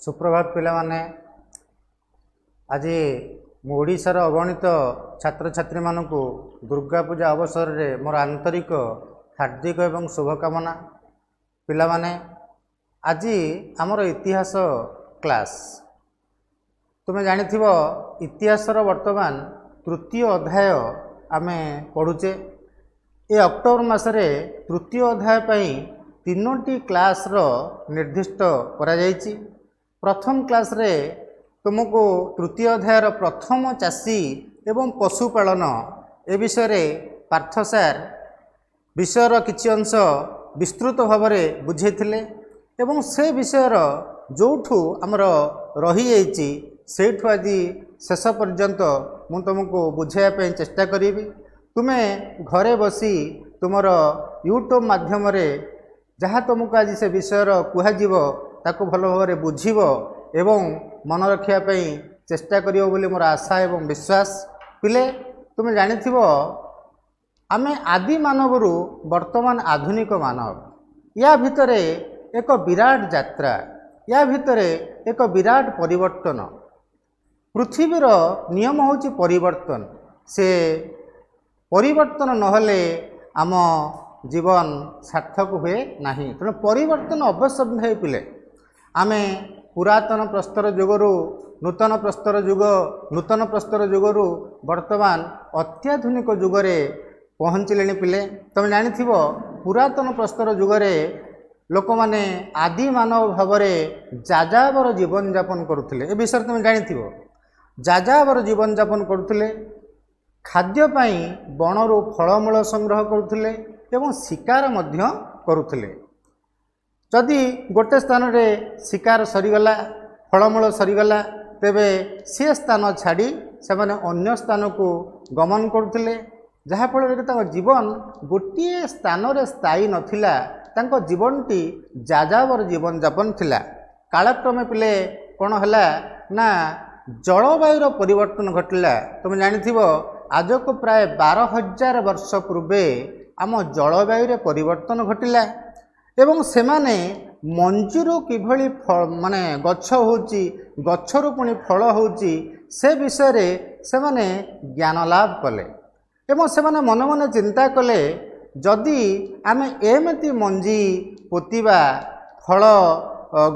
ସୁପ୍ରଭାତ ପିଲାମାନେ। ଆଜି ମୁଁ ଓଡ଼ିଶାର ଅଗଣିତ ଛାତ୍ରଛାତ୍ରୀମାନଙ୍କୁ ଦୁର୍ଗା ପୂଜା ଅବସରରେ ମୋର ଆନ୍ତରିକ ହାର୍ଦ୍ଦିକ ଏବଂ ଶୁଭକାମନା। ପିଲାମାନେ, ଆଜି ଆମର ଇତିହାସ କ୍ଲାସ୍। ତୁମେ ଜାଣିଥିବ, ଇତିହାସର ବର୍ତ୍ତମାନ ତୃତୀୟ ଅଧ୍ୟାୟ ଆମେ ପଢ଼ୁଛେ। ଏ ଅକ୍ଟୋବର ମାସରେ ତୃତୀୟ ଅଧ୍ୟାୟ ପାଇଁ 3ଟି କ୍ଲାସ୍ର ନିର୍ଦ୍ଦିଷ୍ଟ କରାଯାଇଛି। ପ୍ରଥମ କ୍ଲାସ୍ରେ ତୁମକୁ ତୃତୀୟ ଅଧ୍ୟାୟର ପ୍ରଥମ ଚାଷୀ ଏବଂ ପଶୁପାଳନ ଏ ବିଷୟରେ ପାର୍ଥ ସାର୍ ବିଷୟର କିଛି ଅଂଶ ବିସ୍ତୃତ ଭାବରେ ବୁଝେଇଥିଲେ ଏବଂ ସେ ବିଷୟର ଯେଉଁଠୁ ଆମର ରହିଯାଇଛି, ସେଇଠୁ ଆଜି ଶେଷ ପର୍ଯ୍ୟନ୍ତ ମୁଁ ତୁମକୁ ବୁଝାଇବା ପାଇଁ ଚେଷ୍ଟା କରିବି। ତୁମେ ଘରେ ବସି ତୁମର ୟୁଟ୍ୟୁବ୍ ମାଧ୍ୟମରେ ଯାହା ତୁମକୁ ଆଜି ସେ ବିଷୟର କୁହାଯିବ, ତାକୁ ଭଲ ଭାବରେ ବୁଝିବ ଏବଂ ମନେ ରଖିବା ପାଇଁ ଚେଷ୍ଟା କରିବ ବୋଲି ମୋର ଆଶା ଏବଂ ବିଶ୍ୱାସ। ପିଲେ, ତୁମେ ଜାଣିଥିବ, ଆମେ ଆଦି ମାନବରୁ ବର୍ତ୍ତମାନ ଆଧୁନିକ ମାନବ, ୟା ଭିତରେ ଏକ ବିରାଟ ଯାତ୍ରା, ୟା ଭିତରେ ଏକ ବିରାଟ ପରିବର୍ତ୍ତନ। ପୃଥିବୀର ନିୟମ ହେଉଛି ପରିବର୍ତ୍ତନ। ସେ ପରିବର୍ତ୍ତନ ନହେଲେ ଆମ ଜୀବନ ସାର୍ଥକ ହୁଏ ନାହିଁ। ତେଣୁ ପରିବର୍ତ୍ତନ ଅବଶ୍ୟମ୍ଭାବୀ। ପିଲେ, ଆମେ ପୁରାତନ ପ୍ରସ୍ତର ଯୁଗରୁ ନୂତନ ପ୍ରସ୍ତର ଯୁଗ, ନୂତନ ପ୍ରସ୍ତର ଯୁଗରୁ ବର୍ତ୍ତମାନ ଅତ୍ୟାଧୁନିକ ଯୁଗରେ ପହଞ୍ଚିଲେଣି। ପିଲେ, ତୁମେ ଜାଣିଥିବ, ପୁରାତନ ପ୍ରସ୍ତର ଯୁଗରେ ଲୋକମାନେ ଆଦି ମାନବ ଭାବରେ ଯାଯାବର ଜୀବନଯାପନ କରୁଥିଲେ। ଏ ବିଷୟରେ ତୁମେ ଜାଣିଥିବ। ଯାଯାବର ଜୀବନଯାପନ କରୁଥିଲେ, ଖାଦ୍ୟ ପାଇଁ ବଣରୁ ଫଳମୂଳ ସଂଗ୍ରହ କରୁଥିଲେ ଏବଂ ଶିକାର ମଧ୍ୟ କରୁଥିଲେ। ଯଦି ଗୋଟେ ସ୍ଥାନରେ ଶିକାର ସରିଗଲା, ଫଳମୂଳ ସରିଗଲା, ତେବେ ସେ ସ୍ଥାନ ଛାଡ଼ି ସେମାନେ ଅନ୍ୟ ସ୍ଥାନକୁ ଗମନ କରୁଥିଲେ, ଯାହାଫଳରେ କି ତାଙ୍କ ଜୀବନ ଗୋଟିଏ ସ୍ଥାନରେ ସ୍ଥାୟୀ ନଥିଲା। ତାଙ୍କ ଜୀବନଟି ଯାଯାବର ଜୀବନଯାପନ ଥିଲା। କାଳକ୍ରମେ ପିଲେ କ'ଣ ହେଲା ନା ଜଳବାୟୁର ପରିବର୍ତ୍ତନ ଘଟିଲା। ତୁମେ ଜାଣିଥିବ, ଆଜକୁ ପ୍ରାୟ 12,000 ବର୍ଷ ପୂର୍ବେ ଆମ ଜଳବାୟୁରେ ପରିବର୍ତ୍ତନ ଘଟିଲା ଏବଂ ସେମାନେ ମଞ୍ଜିରୁ କିଭଳି ମାନେ ଗଛ ହେଉଛି, ଗଛରୁ ପୁଣି ଫଳ ହେଉଛି, ସେ ବିଷୟରେ ସେମାନେ ଜ୍ଞାନ ଲାଭ କଲେ ଏବଂ ସେମାନେ ମନେ ମନେ ଚିନ୍ତା କଲେ, ଯଦି ଆମେ ଏମିତି ମଞ୍ଜି ପୋତିବା, ଫଳ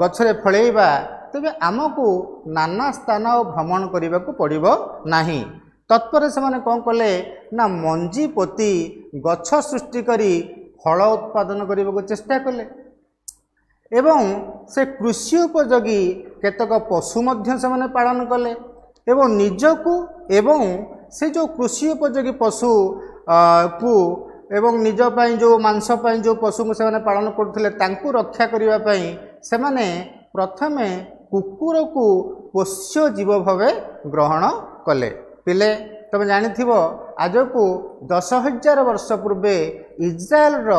ଗଛରେ ଫଳେଇବା, ତେବେ ଆମକୁ ନାନା ସ୍ଥାନ ଭ୍ରମଣ କରିବାକୁ ପଡ଼ିବ ନାହିଁ। ତତ୍ପରେ ସେମାନେ କ'ଣ କଲେ ନା ମଞ୍ଜି ପୋତି ଗଛ ସୃଷ୍ଟି କରି ଫଳ ଉତ୍ପାଦନ କରିବାକୁ ଚେଷ୍ଟା କଲେ ଏବଂ ସେ କୃଷି ଉପଯୋଗୀ କେତେକ ପଶୁ ମଧ୍ୟ ସେମାନେ ପାଳନ କଲେ ଏବଂ ନିଜକୁ ଏବଂ ସେ ଯେଉଁ କୃଷି ଉପଯୋଗୀ ପଶୁ କୁ ଏବଂ ନିଜ ପାଇଁ ଯେଉଁ ମାଂସ ପାଇଁ ଯେଉଁ ପଶୁଙ୍କୁ ସେମାନେ ପାଳନ କରୁଥିଲେ, ତାଙ୍କୁ ରକ୍ଷା କରିବା ପାଇଁ ସେମାନେ ପ୍ରଥମେ କୁକୁରକୁ ପୋଷ୍ୟ ଜୀବ ଭାବେ ଗ୍ରହଣ କଲେ। ପିଲେ, ତୁମେ ଜାଣିଥିବ, ଆଜକୁ 10,000 ବର୍ଷ ପୂର୍ବେ ଇସ୍ରାଏଲର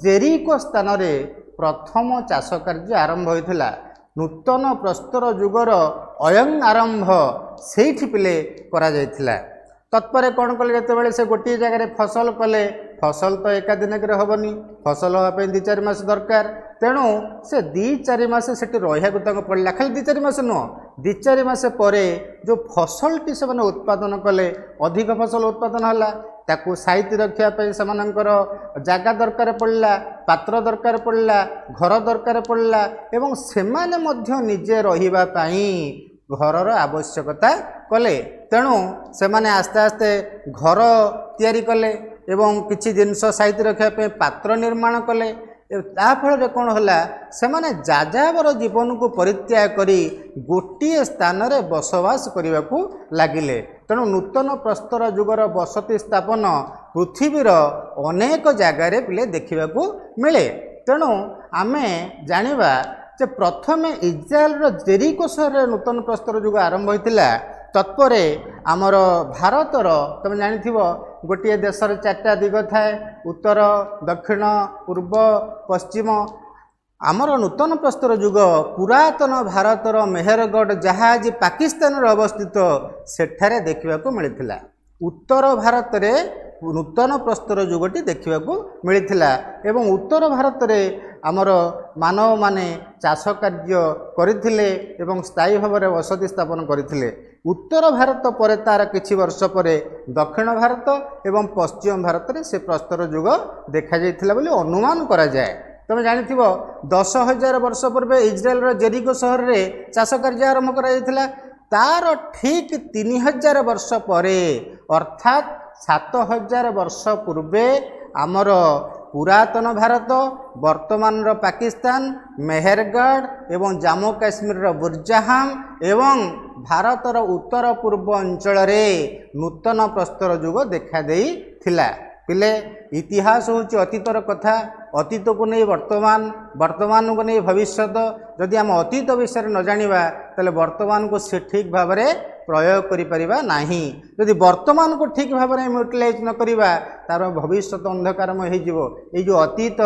ଜେରିକୋ ସ୍ଥାନରେ ପ୍ରଥମ ଚାଷ କାର୍ଯ୍ୟ ଆରମ୍ଭ ହୋଇଥିଲା। ନୂତନ ପ୍ରସ୍ତର ଯୁଗର ଅୟଂ ଆରମ୍ଭ ସେଇଠି ପିଲେ କରାଯାଇଥିଲା। ତତ୍ପରେ କ'ଣ କଲେ? ଯେତେବେଳେ ସେ ଗୋଟିଏ ଜାଗାରେ ଫସଲ କଲେ, ଫସଲ ତ ଏକା ଦିନକରେ ହେବନି, ଫସଲ ହେବା ପାଇଁ 2 4 ମାସ ଦରକାର। ତେଣୁ ସେ 2 4 ମାସ ସେଠି ରହିବାକୁ ତାଙ୍କୁ ପଡ଼ିଲା। ଖାଲି 2 4 ମାସ ନୁହଁ, 2 4 ମାସ ପରେ ଯେଉଁ ଫସଲଟି ସେମାନେ ଉତ୍ପାଦନ କଲେ, ଅଧିକ ଫସଲ ଉତ୍ପାଦନ ହେଲା, ତାକୁ ସାଇତି ରଖିବା ପାଇଁ ସେମାନଙ୍କର ଜାଗା ଦରକାର ପଡ଼ିଲା, ପାତ୍ର ଦରକାର ପଡ଼ିଲା, ଘର ଦରକାର ପଡ଼ିଲା ଏବଂ ସେମାନେ ମଧ୍ୟ ନିଜେ ରହିବା ପାଇଁ ଘରର ଆବଶ୍ୟକତା କଲେ। ତେଣୁ ସେମାନେ ଆସ୍ତେ ଆସ୍ତେ ଘର ତିଆରି କଲେ ଏବଂ କିଛି ଜିନିଷ ସାଇତି ରଖିବା ପାଇଁ ପାତ୍ର ନିର୍ମାଣ କଲେ। ତା ଫଳରେ କ'ଣ ହେଲା? ସେମାନେ ଯାଯାବର ଜୀବନକୁ ପରିତ୍ୟାଗ କରି ଗୋଟିଏ ସ୍ଥାନରେ ବସବାସ କରିବାକୁ ଲାଗିଲେ। ତେଣୁ ନୂତନ ପ୍ରସ୍ତର ଯୁଗର ବସତି ସ୍ଥାପନ ପୃଥିବୀର ଅନେକ ଜାଗାରେ ପିଲେ ଦେଖିବାକୁ ମିଳେ। ତେଣୁ ଆମେ ଜାଣିବା ଯେ ପ୍ରଥମେ ଇସ୍ରାଏଲର ଜେରିକୋ ସହରରେ ନୂତନ ପ୍ରସ୍ତର ଯୁଗ ଆରମ୍ଭ ହୋଇଥିଲା। ତତ୍ପରେ ଆମର ଭାରତର, ତୁମେ ଜାଣିଥିବ, ଗୋଟିଏ ଦେଶର 4ଟା ଦିଗ ଥାଏ, ଉତ୍ତର, ଦକ୍ଷିଣ, ପୂର୍ବ, ପଶ୍ଚିମ। ଆମର ନୂତନ ପ୍ରସ୍ତର ଯୁଗ ପୁରାତନ ଭାରତର ମେହେରଗଡ଼, ଯାହା ଆଜି ପାକିସ୍ତାନରେ ଅବସ୍ଥିତ, ସେଠାରେ ଦେଖିବାକୁ ମିଳିଥିଲା। ଉତ୍ତର ଭାରତରେ ନୂତନ ପ୍ରସ୍ତର ଯୁଗଟି ଦେଖିବାକୁ ମିଳିଥିଲା ଏବଂ ଉତ୍ତର ଭାରତରେ ଆମର ମାନବମାନେ ଚାଷ କାର୍ଯ୍ୟ କରିଥିଲେ ଏବଂ ସ୍ଥାୟୀ ଭାବରେ ବସତି ସ୍ଥାପନ କରିଥିଲେ। ଉତ୍ତର ଭାରତ ପରେ ତା'ର କିଛି ବର୍ଷ ପରେ ଦକ୍ଷିଣ ଭାରତ ଏବଂ ପଶ୍ଚିମ ଭାରତରେ ସେ ପ୍ରସ୍ତର ଯୁଗ ଦେଖାଯାଇଥିଲା ବୋଲି ଅନୁମାନ କରାଯାଏ। ତୁମେ ଜାଣିଥିବ, 10,000 ବର୍ଷ ପୂର୍ବେ ଇସ୍ରାଏଲର ଜେରିକୋ ସହରରେ ଚାଷ କାର୍ଯ୍ୟ ଆରମ୍ଭ କରାଯାଇଥିଲା। ତା'ର ଠିକ୍ 3000 ବର୍ଷ ପରେ, ଅର୍ଥାତ୍ 7000 ବର୍ଷ ପୂର୍ବେ ଆମର ପୁରାତନ ଭାରତ, ବର୍ତ୍ତମାନର ପାକିସ୍ତାନ, ମେହେରଗଡ଼ ଏବଂ ଜାମ୍ମୁ କାଶ୍ମୀରର ବୁର୍ଜାହାମ ଏବଂ ଭାରତର ଉତ୍ତର ପୂର୍ବ ଅଞ୍ଚଳରେ ନୂତନ ପ୍ରସ୍ତର ଯୁଗ ଦେଖାଦେଇଥିଲା। ପିଲେ, ଇତିହାସ ହେଉଛି ଅତୀତର କଥା। ଅତୀତକୁ ନେଇ ବର୍ତ୍ତମାନ, ବର୍ତ୍ତମାନକୁ ନେଇ ଭବିଷ୍ୟତ। ଯଦି ଆମେ ଅତୀତ ବିଷୟରେ ନ ଜାଣିବା, ତାହେଲେ ବର୍ତ୍ତମାନକୁ ସେ ଠିକ୍ ଭାବରେ ପ୍ରୟୋଗ କରିପାରିବା ନାହିଁ। ଯଦି ବର୍ତ୍ତମାନକୁ ଠିକ୍ ଭାବରେ ଆମେ ୟୁଟିଲାଇଜ୍ ନ କରିବା, ତା'ର ଭବିଷ୍ୟତ ଅନ୍ଧକାରମୟ ହେଇଯିବ। ଏଇ ଯେଉଁ ଅତୀତ,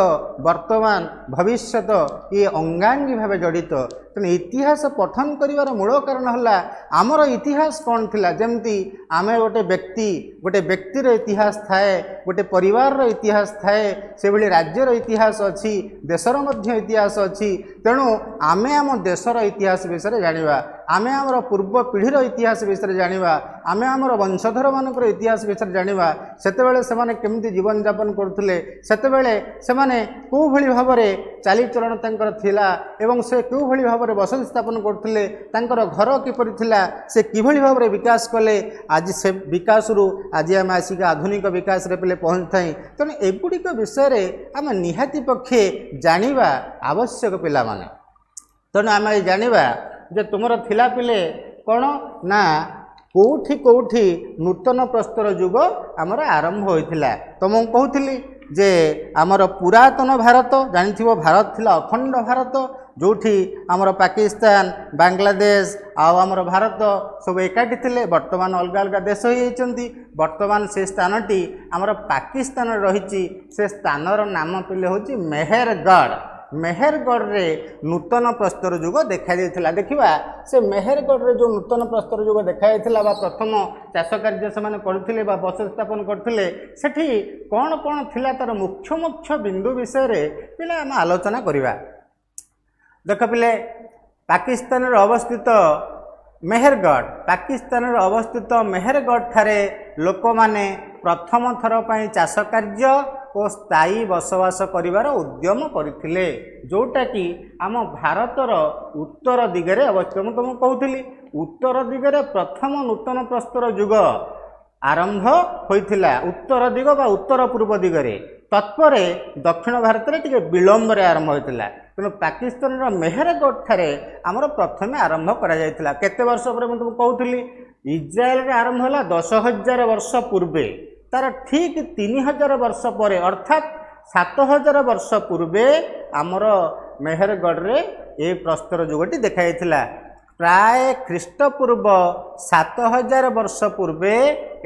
ବର୍ତ୍ତମାନ, ଭବିଷ୍ୟତ ଇଏ ଅଙ୍ଗାଙ୍ଗୀ ଭାବେ ଜଡ଼ିତ। ତେଣୁ ଇତିହାସ ପଠନ କରିବାର ମୂଳ କାରଣ ହେଲା ଆମର ଇତିହାସ କ'ଣ ଥିଲା। ଯେମିତି ଆମେ ଗୋଟେ ବ୍ୟକ୍ତି, ଗୋଟେ ବ୍ୟକ୍ତିର ଇତିହାସ ଥାଏ, ଗୋଟେ ପରିବାରର ଇତିହାସ ଥାଏ, ସେଭଳି ରାଜ୍ୟର ଇତିହାସ ଅଛି, ଦେଶର ମଧ୍ୟ ଇତିହାସ ଅଛି। ତେଣୁ ଆମେ ଆମ ଦେଶର ଇତିହାସ ବିଷୟରେ ଜାଣିବା, ଆମେ ଆମର ପୂର୍ବ ପିଢ଼ିର ଇତିହାସ ବିଷୟରେ ଜାଣିବା, ଆମେ ଆମର ବଂଶଧରମାନଙ୍କର ଇତିହାସ ବିଷୟରେ ଜାଣିବା। ସେତେବେଳେ ସେମାନେ କେମିତି ଜୀବନଯାପନ କରୁଥିଲେ, ସେତେବେଳେ ସେମାନେ କେଉଁଭଳି ଭାବରେ ଚାଲିଚଳନ ତାଙ୍କର ଥିଲା ଏବଂ ସେ କେଉଁଭଳି ଭାବରେ ବସତି ସ୍ଥାପନ କରୁଥିଲେ, ତାଙ୍କର ଘର କିପରି ଥିଲା, ସେ କିଭଳି ଭାବରେ ବିକାଶ କଲେ, ଆଜି ସେ ବିକାଶରୁ ଆଜି ଆମେ ଆସିକି ଆଧୁନିକ ବିକାଶରେ ପିଲେ ପହଞ୍ଚିଥାଇ। ତେଣୁ ଏଗୁଡ଼ିକ ବିଷୟରେ ଆମେ ନିହାତି ପକ୍ଷେ ଜାଣିବା ଆବଶ୍ୟକ ପିଲାମାନେ। ତେଣୁ ଆମେ ଜାଣିବା ଯେ ତୁମର ଥିଲା ପିଲେ କ'ଣ ନା କେଉଁଠି କେଉଁଠି ନୂତନ ପ୍ରସ୍ତର ଯୁଗ ଆମର ଆରମ୍ଭ ହୋଇଥିଲା। ତ ମୁଁ କହୁଥିଲି ଯେ ଆମର ପୁରାତନ ଭାରତ, ଜାଣିଥିବ ଭାରତ ଥିଲା ଅଖଣ୍ଡ ଭାରତ, ଯେଉଁଠି ଆମର ପାକିସ୍ତାନ, ବାଂଲାଦେଶ ଆଉ ଆମର ଭାରତ ସବୁ ଏକାଠି ଥିଲେ। ବର୍ତ୍ତମାନ ଅଲଗା ଅଲଗା ଦେଶ ହୋଇଯାଇଛନ୍ତି। ବର୍ତ୍ତମାନ ସେ ସ୍ଥାନଟି ଆମର ପାକିସ୍ତାନରେ ରହିଛି। ସେ ସ୍ଥାନର ନାମ ପିଲେ ହେଉଛି ମେହେରଗଡ଼। ମେହେରଗଡ଼ରେ ନୂତନ ପ୍ରସ୍ତର ଯୁଗ ଦେଖାଯାଇଥିଲା। ଦେଖିବା ସେ ମେହେରଗଡ଼ରେ ଯେଉଁ ନୂତନ ପ୍ରସ୍ତର ଯୁଗ ଦେଖାଯାଇଥିଲା ବା ପ୍ରଥମ ଚାଷ କାର୍ଯ୍ୟ ସେମାନେ କରୁଥିଲେ ବା ବସତି ସ୍ଥାପନ କରୁଥିଲେ, ସେଠି କ'ଣ କ'ଣ ଥିଲା, ତା'ର ମୁଖ୍ୟ ମୁଖ୍ୟ ବିନ୍ଦୁ ବିଷୟରେ ପିଲା ଆମେ ଆଲୋଚନା କରିବା। ଦେଖ ପିଲେ, ପାକିସ୍ତାନରେ ଅବସ୍ଥିତ ମେହେରଗଡ଼, ପାକିସ୍ତାନରେ ଅବସ୍ଥିତ ମେହେରଗଡ଼ ଠାରେ ଲୋକମାନେ ପ୍ରଥମ ଥର ପାଇଁ ଚାଷ କାର୍ଯ୍ୟ ଓ ସ୍ଥାୟୀ ବସବାସ କରିବାର ଉଦ୍ୟମ କରିଥିଲେ, ଯେଉଁଟାକି ଆମ ଭାରତର ଉତ୍ତର ଦିଗରେ ଅବସ୍ଥିତ। ମୁଁ ତୁମକୁ କହୁଥିଲି, ଉତ୍ତର ଦିଗରେ ପ୍ରଥମ ନୂତନ ପ୍ରସ୍ତର ଯୁଗ ଆରମ୍ଭ ହୋଇଥିଲା, ଉତ୍ତର ଦିଗ ବା ଉତ୍ତର ପୂର୍ବ ଦିଗରେ। ତତ୍ପରେ ଦକ୍ଷିଣ ଭାରତରେ ଟିକେ ବିଳମ୍ବରେ ଆରମ୍ଭ ହୋଇଥିଲା। ତେଣୁ ପାକିସ୍ତାନର ମେହେରଗଡ଼ ଠାରେ ଆମର ପ୍ରଥମେ ଆରମ୍ଭ କରାଯାଇଥିଲା। କେତେ ବର୍ଷ ପରେ? ମୁଁ ତୁମକୁ କହୁଥିଲି, ଇସ୍ରାଏଲରେ ଆରମ୍ଭ ହେଲା 10,000 ବର୍ଷ ପୂର୍ବେ, ତାର ଠିକ୍ 3000 ବର୍ଷ ପରେ, ଅର୍ଥାତ୍ 7000 ବର୍ଷ ପୂର୍ବେ ଆମର ମେହେରଗଡ଼ରେ ଏ ପ୍ରସ୍ତର ଯୁଗଟି ଦେଖାଯାଇଥିଲା। ପ୍ରାୟ ଖ୍ରୀଷ୍ଟପୂର୍ବ 7000 ବର୍ଷ ପୂର୍ବେ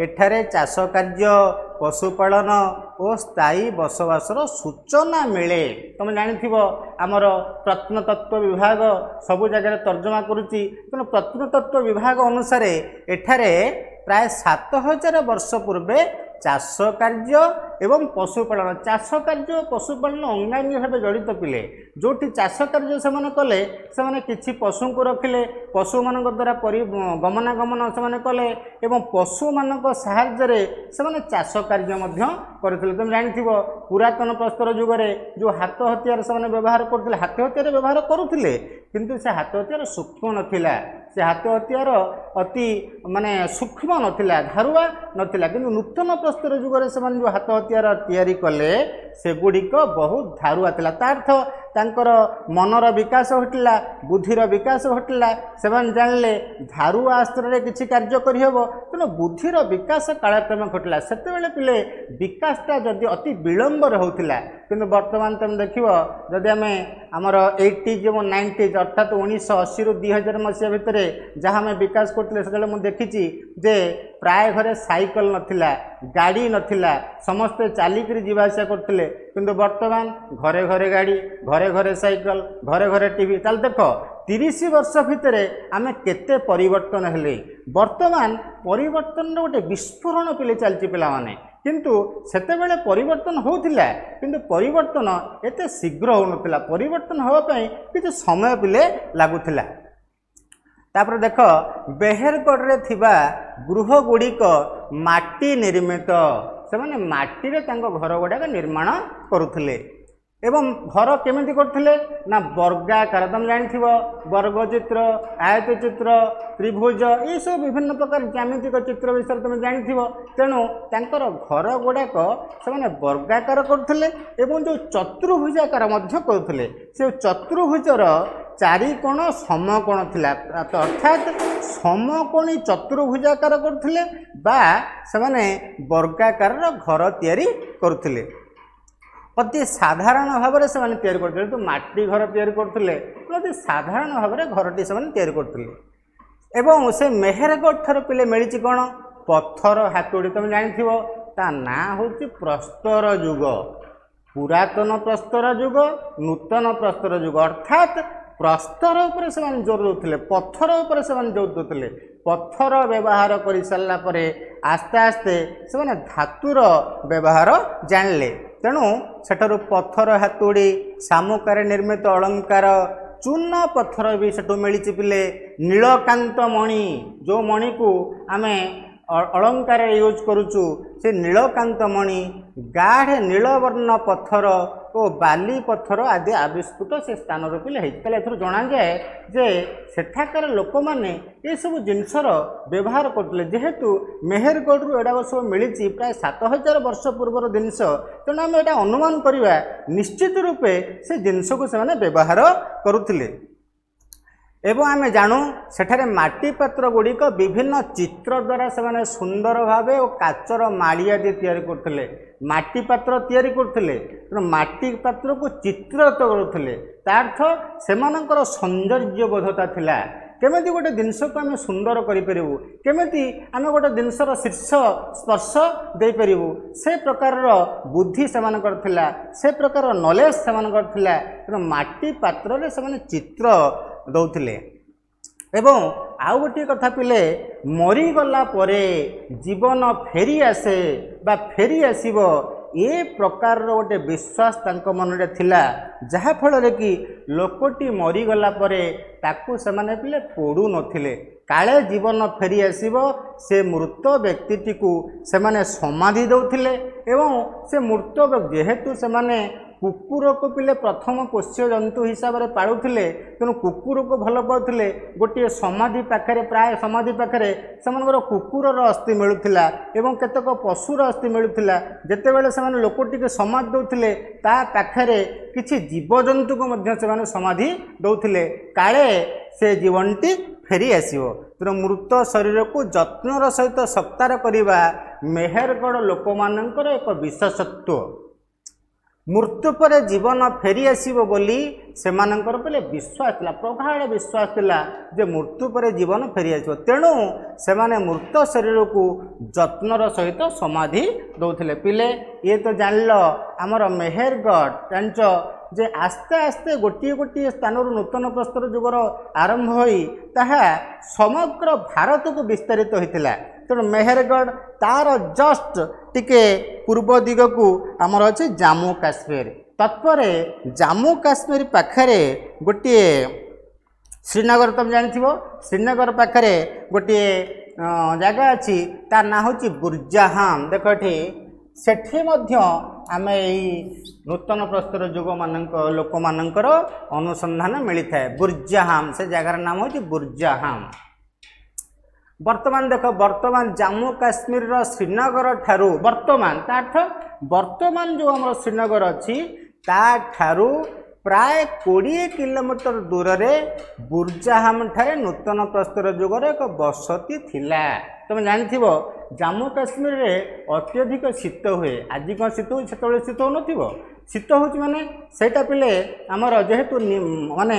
ଏଠାରେ ଚାଷ କାର୍ଯ୍ୟ, ପଶୁପାଳନ ଓ ସ୍ଥାୟୀ ବସବାସର ସୂଚନା ମିଳେ। ତୁମେ ଜାଣିଥିବ, ଆମର ପ୍ରତ୍ନତତ୍ତ୍ୱ ବିଭାଗ ସବୁ ଜାଗାରେ ତର୍ଜମା କରୁଛି। ତେଣୁ ପ୍ରତ୍ନତତ୍ତ୍ୱ ବିଭାଗ ଅନୁସାରେ ଏଠାରେ ପ୍ରାୟ 7000 ବର୍ଷ ପୂର୍ବେ ଚାଷ କାର୍ଯ୍ୟ ଏବଂ ପଶୁପାଳନ, ଚାଷ କାର୍ଯ୍ୟ ଓ ପଶୁପାଳନ ଅଙ୍ଗାଙ୍ଗୀ ଭାବେ ଜଡ଼ିତ ପିଲେ। ଯେଉଁଠି ଚାଷ କାର୍ଯ୍ୟ ସେମାନେ କଲେ, ସେମାନେ କିଛି ପଶୁଙ୍କୁ ରଖିଲେ, ପଶୁମାନଙ୍କ ଦ୍ୱାରା ପରି ଗମନାଗମନ ସେମାନେ କଲେ ଏବଂ ପଶୁମାନଙ୍କ ସାହାଯ୍ୟରେ ସେମାନେ ଚାଷ କାର୍ଯ୍ୟ ମଧ୍ୟ କରିଥିଲେ। ତୁମେ ଜାଣିଥିବ, ପୁରାତନ ପ୍ରସ୍ତର ଯୁଗରେ ଯେଉଁ ହାତ ହତିଆର ସେମାନେ ବ୍ୟବହାର କରୁଥିଲେ, ହାତ ହତିଆର ବ୍ୟବହାର କରୁଥିଲେ, କିନ୍ତୁ ସେ ହାତ ହତିଆର ସୂକ୍ଷ୍ମ ନଥିଲା। ସେ ହାତ ହତିଆର ଅତି ମାନେ ସୂକ୍ଷ୍ମ ନଥିଲା, ଧାରୁଆ ନଥିଲା। କିନ୍ତୁ ନୂତନ ପ୍ରସ୍ତର ଯୁଗରେ ସେମାନେ ଯେଉଁ ହାତ ହତିଆର ତିଆରି କଲେ, ସେଗୁଡ଼ିକ ବହୁତ ଧାରୁଆ ଥିଲା। ତା ଅର୍ଥ ତାଙ୍କର ମନର ବିକାଶ ଘଟିଲା, ବୁଦ୍ଧିର ବିକାଶ ଘଟିଲା। ସେମାନେ ଜାଣିଲେ ଧାରୁଆ ଅସ୍ତ୍ରରେ କିଛି କାର୍ଯ୍ୟ କରିହେବ। ତେଣୁ ବୁଦ୍ଧିର ବିକାଶ କାଳକ୍ରମେ ଘଟିଲା। ସେତେବେଳେ ପିଲେ ବିକାଶଟା ଯଦି ଅତି ବିଳମ୍ବରେ ହେଉଥିଲା, କିନ୍ତୁ ବର୍ତ୍ତମାନ ତୁମେ ଦେଖିବ, ଯଦି ଆମେ ଆମର ଏଇଟିଜ୍ ଏବଂ ନାଇଣ୍ଟିଜ୍, ଅର୍ଥାତ୍ 1980ରୁ 2000 ମସିହା ଭିତରେ ଯାହା ଆମେ ବିକାଶ କରୁଥିଲେ, ସେତେବେଳେ ମୁଁ ଦେଖିଛି ଯେ ପ୍ରାୟ ଘରେ ସାଇକେଲ ନଥିଲା, ଗାଡ଼ି ନଥିଲା, ସମସ୍ତେ ଚାଲିକିରି ଯିବା ଆସିବା କରୁଥିଲେ। କିନ୍ତୁ ବର୍ତ୍ତମାନ ଘରେ ଘରେ ଗାଡ଼ି, ଘରେ ଘରେ ସାଇକେଲ, ଘରେ ଘରେ ଟିଭି। ତାହେଲେ ଦେଖ, 30 ବର୍ଷ ଭିତରେ ଆମେ କେତେ ପରିବର୍ତ୍ତନ ହେଲେ। ବର୍ତ୍ତମାନ ପରିବର୍ତ୍ତନର ଗୋଟେ ବିସ୍ଫୋରଣ ପିଲେ ଚାଲିଛି ପିଲାମାନେ। କିନ୍ତୁ ସେତେବେଳେ ପରିବର୍ତ୍ତନ ହେଉଥିଲା, କିନ୍ତୁ ପରିବର୍ତ୍ତନ ଏତେ ଶୀଘ୍ର ହେଉନଥିଲା। ପରିବର୍ତ୍ତନ ହେବା ପାଇଁ କିଛି ସମୟ ପିଲେ ଲାଗୁଥିଲା। ତାପରେ ଦେଖ, ବେହେରଗଡ଼ରେ ଥିବା ଗୃହ ଗୁଡ଼ିକ ମାଟି ନିର୍ମିତ। ସେମାନେ ମାଟିରେ ତାଙ୍କ ଘର ଗୁଡ଼ାକ ନିର୍ମାଣ କରୁଥିଲେ ଏବଂ ଘର କେମିତି କରୁଥିଲେ ନା ବର୍ଗାକାର। ତୁମେ ଜାଣିଥିବ, ବର୍ଗ ଚିତ୍ର, ଆୟତ ଚିତ୍ର, ତ୍ରିଭୁଜ, ଏସବୁ ବିଭିନ୍ନ ପ୍ରକାର ଜ୍ୟାମିତିକ ଚିତ୍ର ବିଷୟରେ ତୁମେ ଜାଣିଥିବ। ତେଣୁ ତାଙ୍କର ଘର ଗୁଡ଼ାକ ସେମାନେ ବର୍ଗାକାର କରୁଥିଲେ ଏବଂ ଯେଉଁ ଚତୁର୍ଭୁଜାକାର ମଧ୍ୟ କରୁଥିଲେ, ସେ ଚତୁର୍ଭୁଜର ଚାରିକୋଣ ସମକୋଣ ଥିଲା, ଅର୍ଥାତ୍ ସମକୋଣୀ ଚତୁର୍ଭୁଜାକାର କରୁଥିଲେ ବା ସେମାନେ ବର୍ଗାକାରର ଘର ତିଆରି କରୁଥିଲେ। ଅତି ସାଧାରଣ ଭାବରେ ସେମାନେ ତିଆରି କରୁଥିଲେ। ଯେହେତୁ ମାଟି ଘର ତିଆରି କରୁଥିଲେ, ଅତି ସାଧାରଣ ଭାବରେ ଘରଟି ସେମାନେ ତିଆରି କରୁଥିଲେ। ଏବଂ ସେ ମେହେରଗଡ଼ ଠାରୁ ପିଲେ ମିଳିଛି କ'ଣ? ପଥର ହାତୁଡ଼ି। ତୁମେ ଜାଣିଥିବ, ତା ନାଁ ହେଉଛି ପ୍ରସ୍ତର ଯୁଗ, ପୁରାତନ ପ୍ରସ୍ତର ଯୁଗ, ନୂତନ ପ୍ରସ୍ତର ଯୁଗ। ଅର୍ଥାତ୍ ପ୍ରସ୍ତର ଉପରେ ସେମାନେ ଜୋର ଦେଉଥିଲେ, ପଥର ଉପରେ ସେମାନେ ଜୋର ଦେଉଥିଲେ। ପଥର ବ୍ୟବହାର କରିସାରିଲା ପରେ ଆସ୍ତେ ଆସ୍ତେ ସେମାନେ ଧାତୁର ବ୍ୟବହାର ଜାଣିଲେ। ତେଣୁ ସେଠାରୁ ପଥର ହାତୁଡ଼ି, ଶାମୁକାରେ ନିର୍ମିତ ଅଳଙ୍କାର, ଚୂନ ପଥର ବି ସେଠୁ ମିଳିଛି ପିଲେ। ନୀଳକାନ୍ତ ମଣି, ଯେଉଁ ମଣିକୁ ଆମେ ଅଳଙ୍କାରରେ ୟୁଜ୍ କରୁଛୁ, ସେ ନୀଳକାନ୍ତ ମଣି, ଗାଢ଼ ନୀଳବର୍ଣ୍ଣ ପଥର ଓ ବାଲି ପଥର ଆଦି ଆବିଷ୍କୃତ ସେ ସ୍ଥାନରୁ ପିଲେ ହେଇଛି। ତାହେଲେ ଏଥିରୁ ଜଣାଯାଏ ଯେ ସେଠାକାର ଲୋକମାନେ ଏସବୁ ଜିନିଷର ବ୍ୟବହାର କରୁଥିଲେ। ଯେହେତୁ ମେହେରଗଡ଼ରୁ ଏଗୁଡ଼ାକ ସବୁ ମିଳିଛି, ପ୍ରାୟ 7000 ବର୍ଷ ପୂର୍ବର ଜିନିଷ, ତେଣୁ ଆମେ ଏଇଟା ଅନୁମାନ କରିବା ନିଶ୍ଚିତ ରୂପେ ସେ ଜିନିଷକୁ ସେମାନେ ବ୍ୟବହାର କରୁଥିଲେ। ଏବଂ ଆମେ ଜାଣୁ ସେଠାରେ ମାଟି ପାତ୍ର ଗୁଡ଼ିକ ବିଭିନ୍ନ ଚିତ୍ର ଦ୍ୱାରା ସେମାନେ ସୁନ୍ଦର ଭାବେ ଓ କାଚର ମାଳି ଆଦି ତିଆରି କରୁଥିଲେ। ମାଟି ପାତ୍ର ତିଆରି କରୁଥିଲେ, ତେଣୁ ମାଟି ପାତ୍ରକୁ ଚିତ୍ରିତ କରୁଥିଲେ। ତା ଅର୍ଥ ସେମାନଙ୍କର ସୌନ୍ଦର୍ଯ୍ୟବୋଧତା ଥିଲା। କେମିତି ଗୋଟେ ଜିନିଷକୁ ଆମେ ସୁନ୍ଦର କରିପାରିବୁ, କେମିତି ଆମେ ଗୋଟେ ଜିନିଷର ଶୀର୍ଷ ସ୍ପର୍ଶ ଦେଇପାରିବୁ, ସେ ପ୍ରକାରର ବୁଦ୍ଧି ସେମାନଙ୍କର ଥିଲା, ସେ ପ୍ରକାରର ନଲେଜ ସେମାନଙ୍କର ଥିଲା। ତେଣୁ ମାଟି ପାତ୍ରରେ ସେମାନେ ଚିତ୍ର ଦେଉଥିଲେ। ଏବଂ ଆଉ ଗୋଟିଏ କଥା ପିଲେ, ମରିଗଲା ପରେ ଜୀବନ ଫେରି ଆସେ ବା ଫେରି ଆସିବ, ଏ ପ୍ରକାରର ଗୋଟେ ବିଶ୍ୱାସ ତାଙ୍କ ମନରେ ଥିଲା, ଯାହାଫଳରେ କି ଲୋକଟି ମରିଗଲା ପରେ ତାକୁ ସେମାନେ ପିଲେ ପୋଡ଼ୁ ନଥିଲେ। କାଳେ ଜୀବନ ଫେରି ଆସିବ, ସେ ମୃତ ବ୍ୟକ୍ତିଟିକୁ ସେମାନେ ସମାଧି ଦେଉଥିଲେ। ଏବଂ ସେ ମୃତ, ଯେହେତୁ ସେମାନେ କୁକୁରକୁ ପିଲେ ପ୍ରଥମ ପୋଷ୍ୟ ଜନ୍ତୁ ହିସାବରେ ପାଳୁଥିଲେ, ତେଣୁ କୁକୁରକୁ ଭଲ ପାଉଥିଲେ। ଗୋଟିଏ ସମାଧି ପାଖରେ, ପ୍ରାୟ ସମାଧି ପାଖରେ ସେମାନଙ୍କର କୁକୁରର ଅସ୍ଥି ମିଳୁଥିଲା ଏବଂ କେତେକ ପଶୁର ଅସ୍ଥି ମିଳୁଥିଲା। ଯେତେବେଳେ ସେମାନେ ଲୋକଟିକୁ ସମାଧି ଦେଉଥିଲେ, ତା ପାଖରେ କିଛି ଜୀବଜନ୍ତୁକୁ ମଧ୍ୟ ସେମାନେ ସମାଧି ଦେଉଥିଲେ, କାଳେ ସେ ଜୀବନଟି ଫେରି ଆସିବ। ତେଣୁ ମୃତ ଶରୀରକୁ ଯତ୍ନର ସହିତ ସତ୍କାର କରିବା ମେହେରଗଡ଼ ଲୋକମାନଙ୍କର ଏକ ବିଶେଷତ୍ୱ। ମୃତ୍ୟୁ ପରେ ଜୀବନ ଫେରି ଆସିବ ବୋଲି ସେମାନଙ୍କର ବୋଲେ ବିଶ୍ୱାସ ଥିଲା, ପ୍ରଗାଢ଼ ବିଶ୍ୱାସ ଥିଲା ଯେ ମୃତ୍ୟୁ ପରେ ଜୀବନ ଫେରି ଆସିବ। ତେଣୁ ସେମାନେ ମୃତ ଶରୀରକୁ ଯତ୍ନର ସହିତ ସମାଧି ଦେଉଥିଲେ। ପିଲେ, ଇଏ ତ ଜାଣିଲ ଆମର ମେହେରଗଡ଼। ଜାଣିଛ ଯେ ଆସ୍ତେ ଆସ୍ତେ ଗୋଟିଏ ଗୋଟିଏ ସ୍ଥାନରୁ ନୂତନ ପ୍ରସ୍ତର ଯୁଗର ଆରମ୍ଭ ହୋଇ ତାହା ସମଗ୍ର ଭାରତକୁ ବିସ୍ତାରିତ ହୋଇଥିଲା। ତେଣୁ ମେହେରଗଡ଼, ତାର ଜଷ୍ଟ ଟିକେ ପୂର୍ବ ଦିଗକୁ ଆମର ଅଛି ଜାମ୍ମୁ କାଶ୍ମୀର। ତତ୍ପରେ ଜାମ୍ମୁ କାଶ୍ମୀର ପାଖରେ ଗୋଟିଏ ଶ୍ରୀନଗର, ତୁମେ ଜାଣିଥିବ, ଶ୍ରୀନଗର ପାଖରେ ଗୋଟିଏ ଜାଗା ଅଛି, ତା ନାଁ ହେଉଛି ବୁର୍ଜାହାମ। ଦେଖ ଏଠି, ସେଠି ମଧ୍ୟ ଆମେ ଏଇ ନୂତନ ପ୍ରସ୍ତର ଯୁଗମାନଙ୍କ ଲୋକମାନଙ୍କର ଅନୁସନ୍ଧାନ ମିଳିଥାଏ। ବୁର୍ଜାହାମ, ସେ ଜାଗାର ନାମ ହେଉଛି ବୁର୍ଜାହାମ। ବର୍ତ୍ତମାନ ଦେଖ, ବର୍ତ୍ତମାନ ଜାମ୍ମୁ କାଶ୍ମୀରର ଶ୍ରୀନଗର ଠାରୁ, ବର୍ତ୍ତମାନ ତା ଅର୍ଥ ବର୍ତ୍ତମାନ ଯେଉଁ ଆମର ଶ୍ରୀନଗର ଅଛି, ତାଠାରୁ ପ୍ରାୟ 20 କିଲୋମିଟର ଦୂରରେ ବୁର୍ଜାହାମ ଠାରେ ନୂତନ ପ୍ରସ୍ତର ଯୁଗର ଏକ ବସତି ଥିଲା। ତୁମେ ଜାଣିଥିବ, ଜାମ୍ମୁ କାଶ୍ମୀରରେ ଅତ୍ୟଧିକ ଶୀତ ହୁଏ। ଆଜି କ'ଣ ଶୀତ ହେଉଛି? ସେତେବେଳେ ଶୀତ ହେଉନଥିବ? ଶୀତ ହେଉଛି। ମାନେ ସେଇଟା ପିଲେ ଆମର ଯେହେତୁ ମାନେ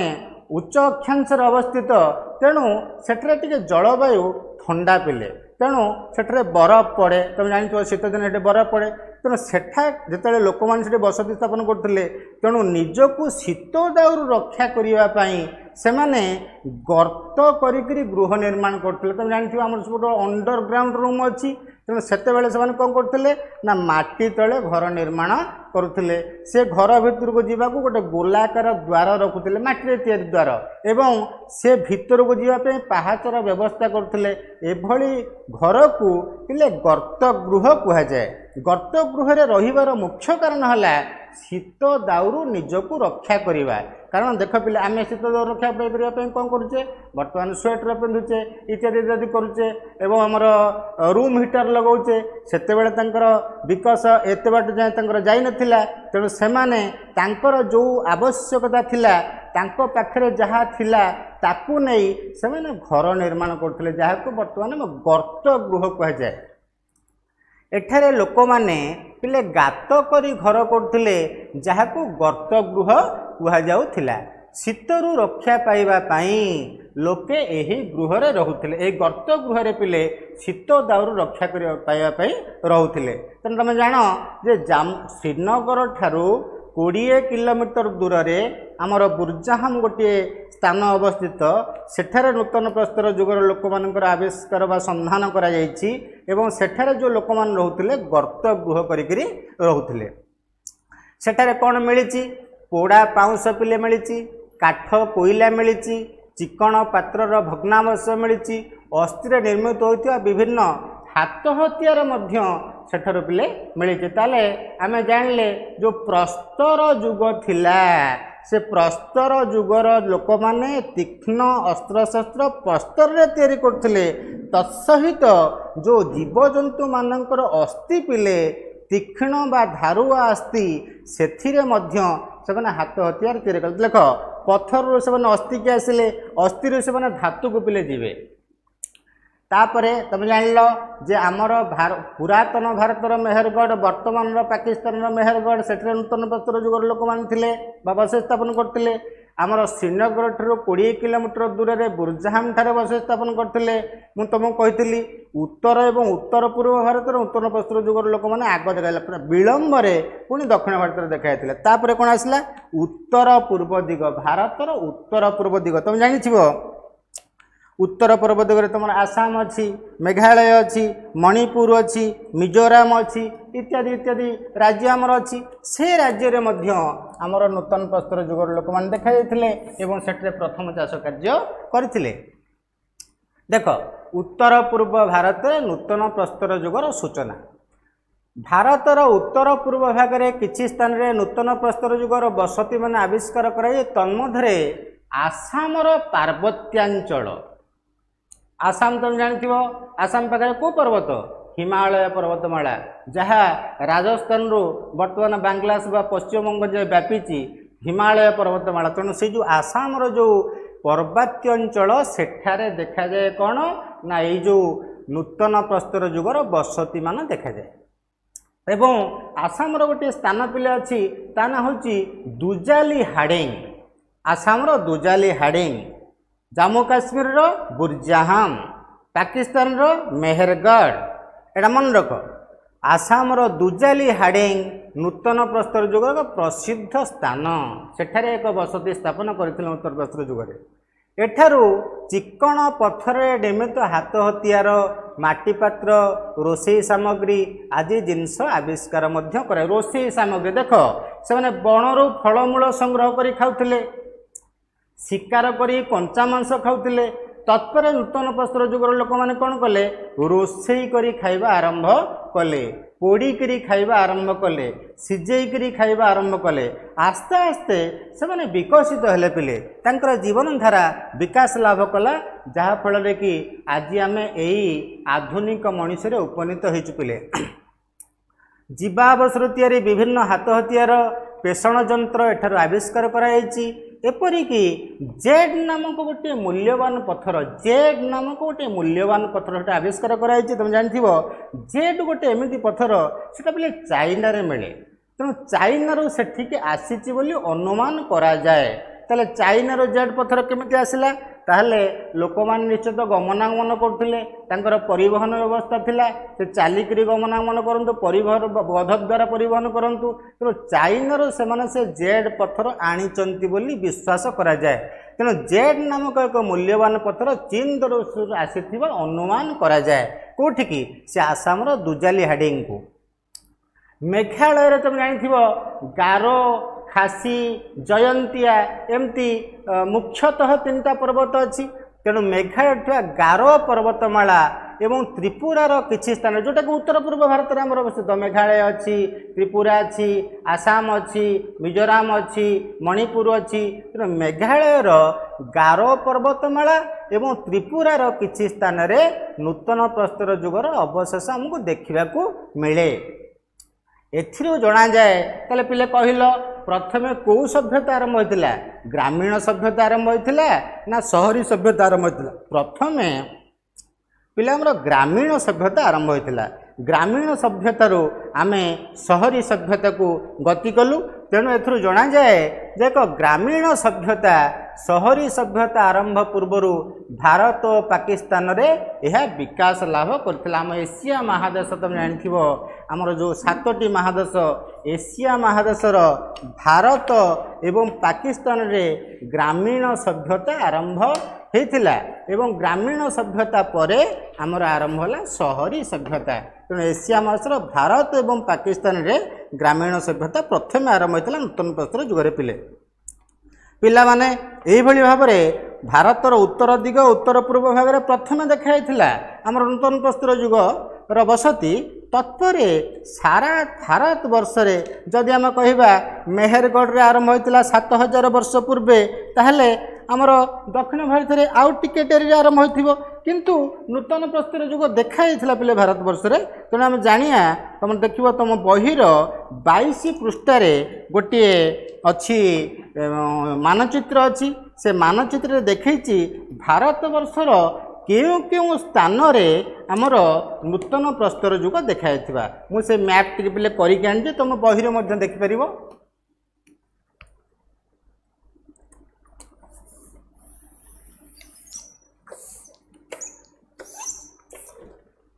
ଉଚ୍ଚ ଅକ୍ଷାଂଶରେ ଅବସ୍ଥିତ, ତେଣୁ ସେଠାରେ ଟିକେ ଜଳବାୟୁ ଥଣ୍ଡା ପିଲେ। ତେଣୁ ସେଠାରେ ବରଫ ପଡ଼େ। ତୁମେ ଜାଣିଥିବ, ଶୀତ ଦିନେ ସେଠି ବରଫ ପଡ଼େ। ତେଣୁ ସେଠା ଯେତେବେଳେ ଲୋକମାନେ ସେଠି ବସତି ସ୍ଥାପନ କରୁଥିଲେ, ତେଣୁ ନିଜକୁ ଶୀତ ଦାଉରୁ ରକ୍ଷା କରିବା ପାଇଁ ସେମାନେ ଗର୍ତ୍ତ କରିକିରି ଗୃହ ନିର୍ମାଣ କରୁଥିଲେ। ତୁମେ ଜାଣିଥିବ, ଆମର ସବୁଠୁ ଅଣ୍ଡରଗ୍ରାଉଣ୍ଡ ରୁମ୍ ଅଛି। ତେଣୁ ସେତେବେଳେ ସେମାନେ କ'ଣ କରୁଥିଲେ ନା ମାଟି ତଳେ ଘର ନିର୍ମାଣ କରୁଥିଲେ। ସେ ଘର ଭିତରକୁ ଯିବାକୁ ଗୋଟେ ଗୋଲାକାର ଦ୍ୱାର ରଖୁଥିଲେ, ମାଟିରେ ତିଆରି ଦ୍ୱାର, ଏବଂ ସେ ଭିତରକୁ ଯିବା ପାଇଁ ପାହାଚର ବ୍ୟବସ୍ଥା କରୁଥିଲେ। ଏଭଳି ଘରକୁ ପିଲେ ଗର୍ତ୍ତ ଗୃହ କୁହାଯାଏ। ଗର୍ତ୍ତ ଗୃହରେ ରହିବାର ମୁଖ୍ୟ କାରଣ ହେଲା ଶୀତ ଦାଉରୁ ନିଜକୁ ରକ୍ଷା କରିବା। କାରଣ ଦେଖ ପିଲେ, ଆମେ ଶୀତ ଦାଉରୁ ରକ୍ଷା କରିବା ପାଇଁ କ'ଣ କରୁଛେ? ବର୍ତ୍ତମାନ ସ୍ୱେଟର ପିନ୍ଧୁଛେ, ଇତ୍ୟାଦି ଇତ୍ୟାଦି କରୁଛେ ଏବଂ ଆମର ରୁମ୍ ହିଟର ଲଗାଉଛେ। ସେତେବେଳେ ତାଙ୍କର ବିକାଶ ଏତେ ବାଟ ଯାଏଁ ତାଙ୍କର ଯାଇନଥିଲା। ତେଣୁ ସେମାନେ ତାଙ୍କର ଯେଉଁ ଆବଶ୍ୟକତା ଥିଲା, ତାଙ୍କ ପାଖରେ ଯାହା ଥିଲା, ତାକୁ ନେଇ ସେମାନେ ଘର ନିର୍ମାଣ କରୁଥିଲେ, ଯାହାକୁ ବର୍ତ୍ତମାନ ଗର୍ତ୍ତ ଗୃହ କୁହାଯାଏ। ଏଠାରେ ଲୋକମାନେ ପିଲେ ଗାତ କରି ଘର କରୁଥିଲେ, ଯାହାକୁ ଗର୍ତ୍ତ ଗୃହ କୁହାଯାଉଥିଲା। ଶୀତରୁ ରକ୍ଷା ପାଇବା ପାଇଁ ଲୋକେ ଏହି ଗୃହରେ ରହୁଥିଲେ। ଏହି ଗର୍ତ୍ତ ଗୃହରେ ପିଲେ ଶୀତ ଦାଉରୁ ରକ୍ଷା କରିବା ପାଇବା ପାଇଁ ରହୁଥିଲେ। ତେଣୁ ତୁମେ ଜାଣ ଯେ ଶ୍ରୀନଗର ଠାରୁ 20 କିଲୋମିଟର ଦୂରରେ ଆମର ବୁର୍ଜାହାମ ଗୋଟିଏ ସ୍ଥାନ ଅବସ୍ଥିତ। ସେଠାରେ ନୂତନ ପ୍ରସ୍ତର ଯୁଗର ଲୋକମାନଙ୍କର ଆବିଷ୍କାର ବା ସନ୍ଧାନ କରାଯାଇଛି ଏବଂ ସେଠାରେ ଯେଉଁ ଲୋକମାନେ ରହୁଥିଲେ, ଗର୍ତ୍ତ ଗୃହ କରିକିରି ରହୁଥିଲେ। ସେଠାରେ କ'ଣ ମିଳିଛି? ପୋଡ଼ା ପାଉଁଶ ପିଲେ ମିଳିଛି, କାଠ କୋଇଲା ମିଳିଛି, ଚିକଣ ପାତ୍ରର ଭଗ୍ନାବଶେଷ ମିଳିଛି, ଅସ୍ଥିରେ ନିର୍ମିତ ହୋଇଥିବା ବିଭିନ୍ନ ହାତ ହତିଆର ମଧ୍ୟ ସେଠାରୁ ପିଲେ ମିଳିଛି। ତାହେଲେ ଆମେ ଜାଣିଲେ, ଯେଉଁ ପ୍ରସ୍ତର ଯୁଗ ଥିଲା, ସେ ପ୍ରସ୍ତର ଯୁଗର ଲୋକମାନେ ତୀକ୍ଷ୍ଣ ଅସ୍ତ୍ରଶସ୍ତ୍ର ପ୍ରସ୍ତରରେ ତିଆରି କରୁଥିଲେ। ତତ୍ସହିତ ଯେଉଁ ଜୀବଜନ୍ତୁମାନଙ୍କର ଅସ୍ଥି ପିଲେ, ତୀକ୍ଷ୍ଣ ବା ଧାରୁଆ ଅସ୍ଥି, ସେଥିରେ ମଧ୍ୟ ସେମାନେ ହାତ ହତିଆର ତିଆରି କଲେ। ଦେଖ, ପଥରରୁ ସେମାନେ ଅସ୍ଥିକି ଆସିଲେ, ଅସ୍ଥିରୁ ସେମାନେ ଧାତୁକୁ ପିଲେ ଯିବେ। ତାପରେ ତୁମେ ଜାଣିଲ ଯେ ଆମର ପୁରାତନ ଭାରତର ମେହେରଗଡ଼, ବର୍ତ୍ତମାନର ପାକିସ୍ତାନର ମେହେରଗଡ଼, ସେଠାରେ ନୂତନ ପ୍ରସ୍ତର ଯୁଗର ଲୋକମାନେ ଥିଲେ ବା ବସତି ସ୍ଥାପନ କରୁଥିଲେ। ଆମର ଶ୍ରୀନଗର ଠାରୁ 20 କିଲୋମିଟର ଦୂରରେ ବୁର୍ଜାହାମ ଠାରେ ବସତି ସ୍ଥାପନ କରିଥିଲେ। ମୁଁ ତୁମକୁ କହିଥିଲି, ଉତ୍ତର ଏବଂ ଉତ୍ତର ପୂର୍ବ ଭାରତରେ ନୂତନ ପ୍ରସ୍ତର ଯୁଗର ଲୋକମାନେ ଆଗ ଦେଖାଯାଇଥିଲା, ବିଳମ୍ବରେ ପୁଣି ଦକ୍ଷିଣ ଭାରତରେ ଦେଖାଯାଇଥିଲା। ତାପରେ କ'ଣ ଆସିଲା? ଉତ୍ତର ପୂର୍ବ ଦିଗ, ଭାରତର ଉତ୍ତର ପୂର୍ବ ଦିଗ। ତୁମେ ଜାଣିଥିବ, ଉତ୍ତର ପୂର୍ବ ଦିଗରେ ତୁମର ଆସାମ ଅଛି, ମେଘାଳୟ ଅଛି, ମଣିପୁର ଅଛି, ମିଜୋରାମ ଅଛି, ଇତ୍ୟାଦି ଇତ୍ୟାଦି ରାଜ୍ୟ ଆମର ଅଛି। ସେ ରାଜ୍ୟରେ ମଧ୍ୟ ଆମର ନୂତନ ପ୍ରସ୍ତର ଯୁଗର ଲୋକମାନେ ଦେଖାଯାଇଥିଲେ ଏବଂ ସେଠାରେ ପ୍ରଥମ ଚାଷ କାର୍ଯ୍ୟ କରିଥିଲେ। ଦେଖ, ଉତ୍ତର ପୂର୍ବ ଭାରତରେ ନୂତନ ପ୍ରସ୍ତର ଯୁଗର ସୂଚନା। ଭାରତର ଉତ୍ତର ପୂର୍ବ ଭାଗରେ କିଛି ସ୍ଥାନରେ ନୂତନ ପ୍ରସ୍ତର ଯୁଗର ବସତିମାନ ଆବିଷ୍କାର କରାଯାଇ, ତନ୍ମଧ୍ୟରେ ଆସାମର ପାର୍ବତ୍ୟାଞ୍ଚଳ। ଆସାମ ତମେ ଜାଣିଥିବ, ଆସାମ ପାଖରେ କେଉଁ ପର୍ବତ? ହିମାଳୟ ପର୍ବତମାଳା, ଯାହା ରାଜସ୍ଥାନରୁ ବର୍ତ୍ତମାନ ବାଂଲାଦେଶ ବା ପଶ୍ଚିମବଙ୍ଗ ଯାଏ ବ୍ୟାପିଛି, ହିମାଳୟ ପର୍ବତମାଳା। ତେଣୁ ସେଇ ଯେଉଁ ଆସାମର ଯେଉଁ ପାର୍ବତ୍ୟାଞ୍ଚଳ, ସେଠାରେ ଦେଖାଯାଏ କ'ଣ ନା ଏଇ ଯେଉଁ ନୂତନ ପ୍ରସ୍ତର ଯୁଗର ବସତିମାନ ଦେଖାଯାଏ। ଏବଂ ଆସାମର ଗୋଟିଏ ସ୍ଥାନ ପିଲା ଅଛି, ତା ନାଁ ହେଉଛି ଦୁଜାଲି ହାଡ଼ିଙ୍ଗ। ଆସାମର ଦୁଜାଲି ହାଡ଼ିଙ୍ଗ, ଜାମ୍ମୁ କାଶ୍ମୀରର ବୁର୍ଜାହାମ, ପାକିସ୍ତାନର ମେହେରଗଡ଼। ଏଇଟା ମନେ ରଖ। ଆସାମର ଦୁଜାଲି ହାଡ଼ିଙ୍ଗ ନୂତନ ପ୍ରସ୍ତର ଯୁଗର ଏକ ପ୍ରସିଦ୍ଧ ସ୍ଥାନ। ସେଠାରେ ଏକ ବସତି ସ୍ଥାପନ କରିଥିଲେ ନୂତନ ପ୍ରସ୍ତର ଯୁଗରେ। ଏଠାରୁ ଚିକ୍କଣ ପଥରରେ ନିର୍ମିତ ହାତ ହତିଆର, ମାଟି ପାତ୍ର, ରୋଷେଇ ସାମଗ୍ରୀ ଆଦି ଜିନିଷ ଆବିଷ୍କାର ମଧ୍ୟ କରେ। ରୋଷେଇ ସାମଗ୍ରୀ ଦେଖ, ସେମାନେ ବଣରୁ ଫଳମୂଳ ସଂଗ୍ରହ କରି ଖାଉଥିଲେ, ଶିକାର କରି କଞ୍ଚା ମାଂସ ଖାଉଥିଲେ। ତତ୍ପରେ ନୂତନ ପ୍ରସ୍ତର ଯୁଗର ଲୋକମାନେ କ'ଣ କଲେ? ରୋଷେଇ କରି ଖାଇବା ଆରମ୍ଭ କଲେ, ପୋଡ଼ିକିରି ଖାଇବା ଆରମ୍ଭ କଲେ, ସିଝେଇକିରି ଖାଇବା ଆରମ୍ଭ କଲେ। ଆସ୍ତେ ଆସ୍ତେ ସେମାନେ ବିକଶିତ ହେଲେ ପିଲେ, ତାଙ୍କର ଜୀବନଧାରା ବିକାଶ ଲାଭ କଲା, ଯାହାଫଳରେ କି ଆଜି ଆମେ ଏଇ ଆଧୁନିକ ମଣିଷରେ ଉପନୀତ ହେଇଛୁ ପିଲେ। ଜୀବାବସରୁ ତିଆରି ବିଭିନ୍ନ ହାତ ହତିଆର, ପେଷଣ ଯନ୍ତ୍ର ଏଠାରୁ ଆବିଷ୍କାର କରାଯାଇଛି। ଏପରିକି ଜେଡ୍ ନାମକ ଗୋଟିଏ ମୂଲ୍ୟବାନ ପଥର, ଜେଡ୍ ନାମକ ଗୋଟିଏ ମୂଲ୍ୟବାନ ପଥର ସେଟା ଆବିଷ୍କାର କରାଯାଇଛି। ତୁମେ ଜାଣିଥିବ, ଜେଡ୍ ଗୋଟେ ଏମିତି ପଥର, ସେଟା ବୋଲେ ଚାଇନାରେ ମିଳେ। ତେଣୁ ଚାଇନାରୁ ସେଠିକି ଆସିଛି ବୋଲି ଅନୁମାନ କରାଯାଏ। ତାହେଲେ ଚାଇନାରୁ ଜେଡ୍ ପଥର କେମିତି ଆସିଲା? ତାହେଲେ ଲୋକମାନେ ନିଶ୍ଚିତ ଗମନାଗମନ କରୁଥିଲେ, ତାଙ୍କର ପରିବହନ ବ୍ୟବସ୍ଥା ଥିଲା, ସେ ଚାଲିକିରି ଗମନାଗମନ କରନ୍ତୁ, ପରିବହନ ଗଧ ଦ୍ୱାରା ପରିବହନ କରନ୍ତୁ। ତେଣୁ ଚାଇନାରୁ ସେମାନେ ସେ ଜେଡ୍ ପଥର ଆଣିଛନ୍ତି ବୋଲି ବିଶ୍ୱାସ କରାଯାଏ। ତେଣୁ ଜେଡ୍ ନାମକ ଏକ ମୂଲ୍ୟବାନ ପଥର ଚୀନ ଦେଶରୁ ଆସିଥିବା ଅନୁମାନ କରାଯାଏ। କେଉଁଠିକି? ସେ ଆସାମର ଦୁଜାଲି ହାଡ଼ିଙ୍ଗକୁ। ମେଘାଳୟରେ ତୁମେ ଜାଣିଥିବ ଗାରୋ, ଖାସି, ଜୟନ୍ତିଆ ଏମିତି ମୁଖ୍ୟତଃ 3ଟା ପର୍ବତ ଅଛି। ତେଣୁ ମେଘାଳୟରେ ଥିବା ଗାରୋ ପର୍ବତମାଳା ଏବଂ ତ୍ରିପୁରାର କିଛି ସ୍ଥାନ, ଯେଉଁଟାକି ଉତ୍ତର ପୂର୍ବ ଭାରତରେ ଆମର ଅବସ୍ଥିତ, ମେଘାଳୟ ଅଛି, ତ୍ରିପୁରା ଅଛି, ଆସାମ ଅଛି, ମିଜୋରାମ ଅଛି, ମଣିପୁର ଅଛି। ତେଣୁ ମେଘାଳୟର ଗାରୋ ପର୍ବତମାଳା ଏବଂ ତ୍ରିପୁରାର କିଛି ସ୍ଥାନରେ ନୂତନ ପ୍ରସ୍ତର ଯୁଗର ଅବଶେଷ ଆମକୁ ଦେଖିବାକୁ ମିଳେ। ଏଥିରୁ ଜଣାଯାଏ। ତାହେଲେ ପିଲେ କହିଲ, ପ୍ରଥମେ କେଉଁ ସଭ୍ୟତା ଆରମ୍ଭ ହୋଇଥିଲା? ଗ୍ରାମୀଣ ସଭ୍ୟତା ଆରମ୍ଭ ହୋଇଥିଲା ନା ସହରୀ ସଭ୍ୟତା ଆରମ୍ଭ ହୋଇଥିଲା? ପ୍ରଥମେ ପିଲା ଆମର ଗ୍ରାମୀଣ ସଭ୍ୟତା ଆରମ୍ଭ ହୋଇଥିଲା। ଗ୍ରାମୀଣ ସଭ୍ୟତାରୁ ଆମେ ସହରୀ ସଭ୍ୟତାକୁ ଗତି କଲୁ। ତେଣୁ ଏଥିରୁ ଜଣାଯାଏ ଯେ ଏକ ଗ୍ରାମୀଣ ସଭ୍ୟତା ସହରୀ ସଭ୍ୟତା ଆରମ୍ଭ ପୂର୍ବରୁ ଭାରତ ଓ ପାକିସ୍ତାନରେ ଏହା ବିକାଶ ଲାଭ କରିଥିଲା। ଆମ ଏସିଆ ମହାଦେଶ, ତୁମେ ଜାଣିଥିବ ଆମର ଯେଉଁ 7ଟି ମହାଦେଶ, ଏସିଆ ମହାଦେଶର ଭାରତ ଏବଂ ପାକିସ୍ତାନରେ ଗ୍ରାମୀଣ ସଭ୍ୟତା ଆରମ୍ଭ ହେଇଥିଲା ଏବଂ ଗ୍ରାମୀଣ ସଭ୍ୟତା ପରେ ଆମର ଆରମ୍ଭ ହେଲା ସହରୀ ସଭ୍ୟତା। ତେଣୁ ଏସିଆ ମହାଦେଶର ଭାରତ ଏବଂ ପାକିସ୍ତାନରେ ଗ୍ରାମୀଣ ସଭ୍ୟତା ପ୍ରଥମେ ଆରମ୍ଭ ହୋଇଥିଲା ନୂତନ ପ୍ରସ୍ତର ଯୁଗରେ। ପିଲେ ପିଲାମାନେ, ଏଇଭଳି ଭାବରେ ଭାରତର ଉତ୍ତର ଦିଗ, ଉତ୍ତର ପୂର୍ବ ଭାଗରେ ପ୍ରଥମେ ଦେଖାଯାଇଥିଲା ଆମର ନୂତନ ପ୍ରସ୍ତର ଯୁଗର ବସତି। ତତ୍ପରେ ସାରା ଭାରତ ବର୍ଷରେ ଯଦି ଆମେ କହିବା ମେହେରଗଡ଼ରେ ଆରମ୍ଭ ହୋଇଥିଲା 7000 ବର୍ଷ ପୂର୍ବେ, ତାହେଲେ ଆମର ଦକ୍ଷିଣ ଭାରତରେ ଆଉ ଟିକେ ଡେରିରେ ଆରମ୍ଭ ହୋଇଥିବ, କିନ୍ତୁ ନୂତନ ପ୍ରସ୍ତର ଯୁଗ ଦେଖାଯାଇଥିଲା ପିଲେ ଭାରତବର୍ଷରେ। ତେଣୁ ଆମେ ଜାଣିବା, ତୁମେ ଦେଖିବ ତୁମ ବହିର 22 ପୃଷ୍ଠାରେ ଗୋଟିଏ ଅଛି ମାନଚିତ୍ର ଅଛି। ସେ ମାନଚିତ୍ରରେ ଦେଖେଇଛି ଭାରତବର୍ଷର କେଉଁ କେଉଁ ସ୍ଥାନରେ ଆମର ନୂତନ ପ୍ରସ୍ତର ଯୁଗ ଦେଖାଯାଇଥିବା। ମୁଁ ସେ ମ୍ୟାପ୍ ଟିକେ ପିଲେ କରିକି ଆଣିଛି, ତୁମ ବହିରେ ମଧ୍ୟ ଦେଖିପାରିବ।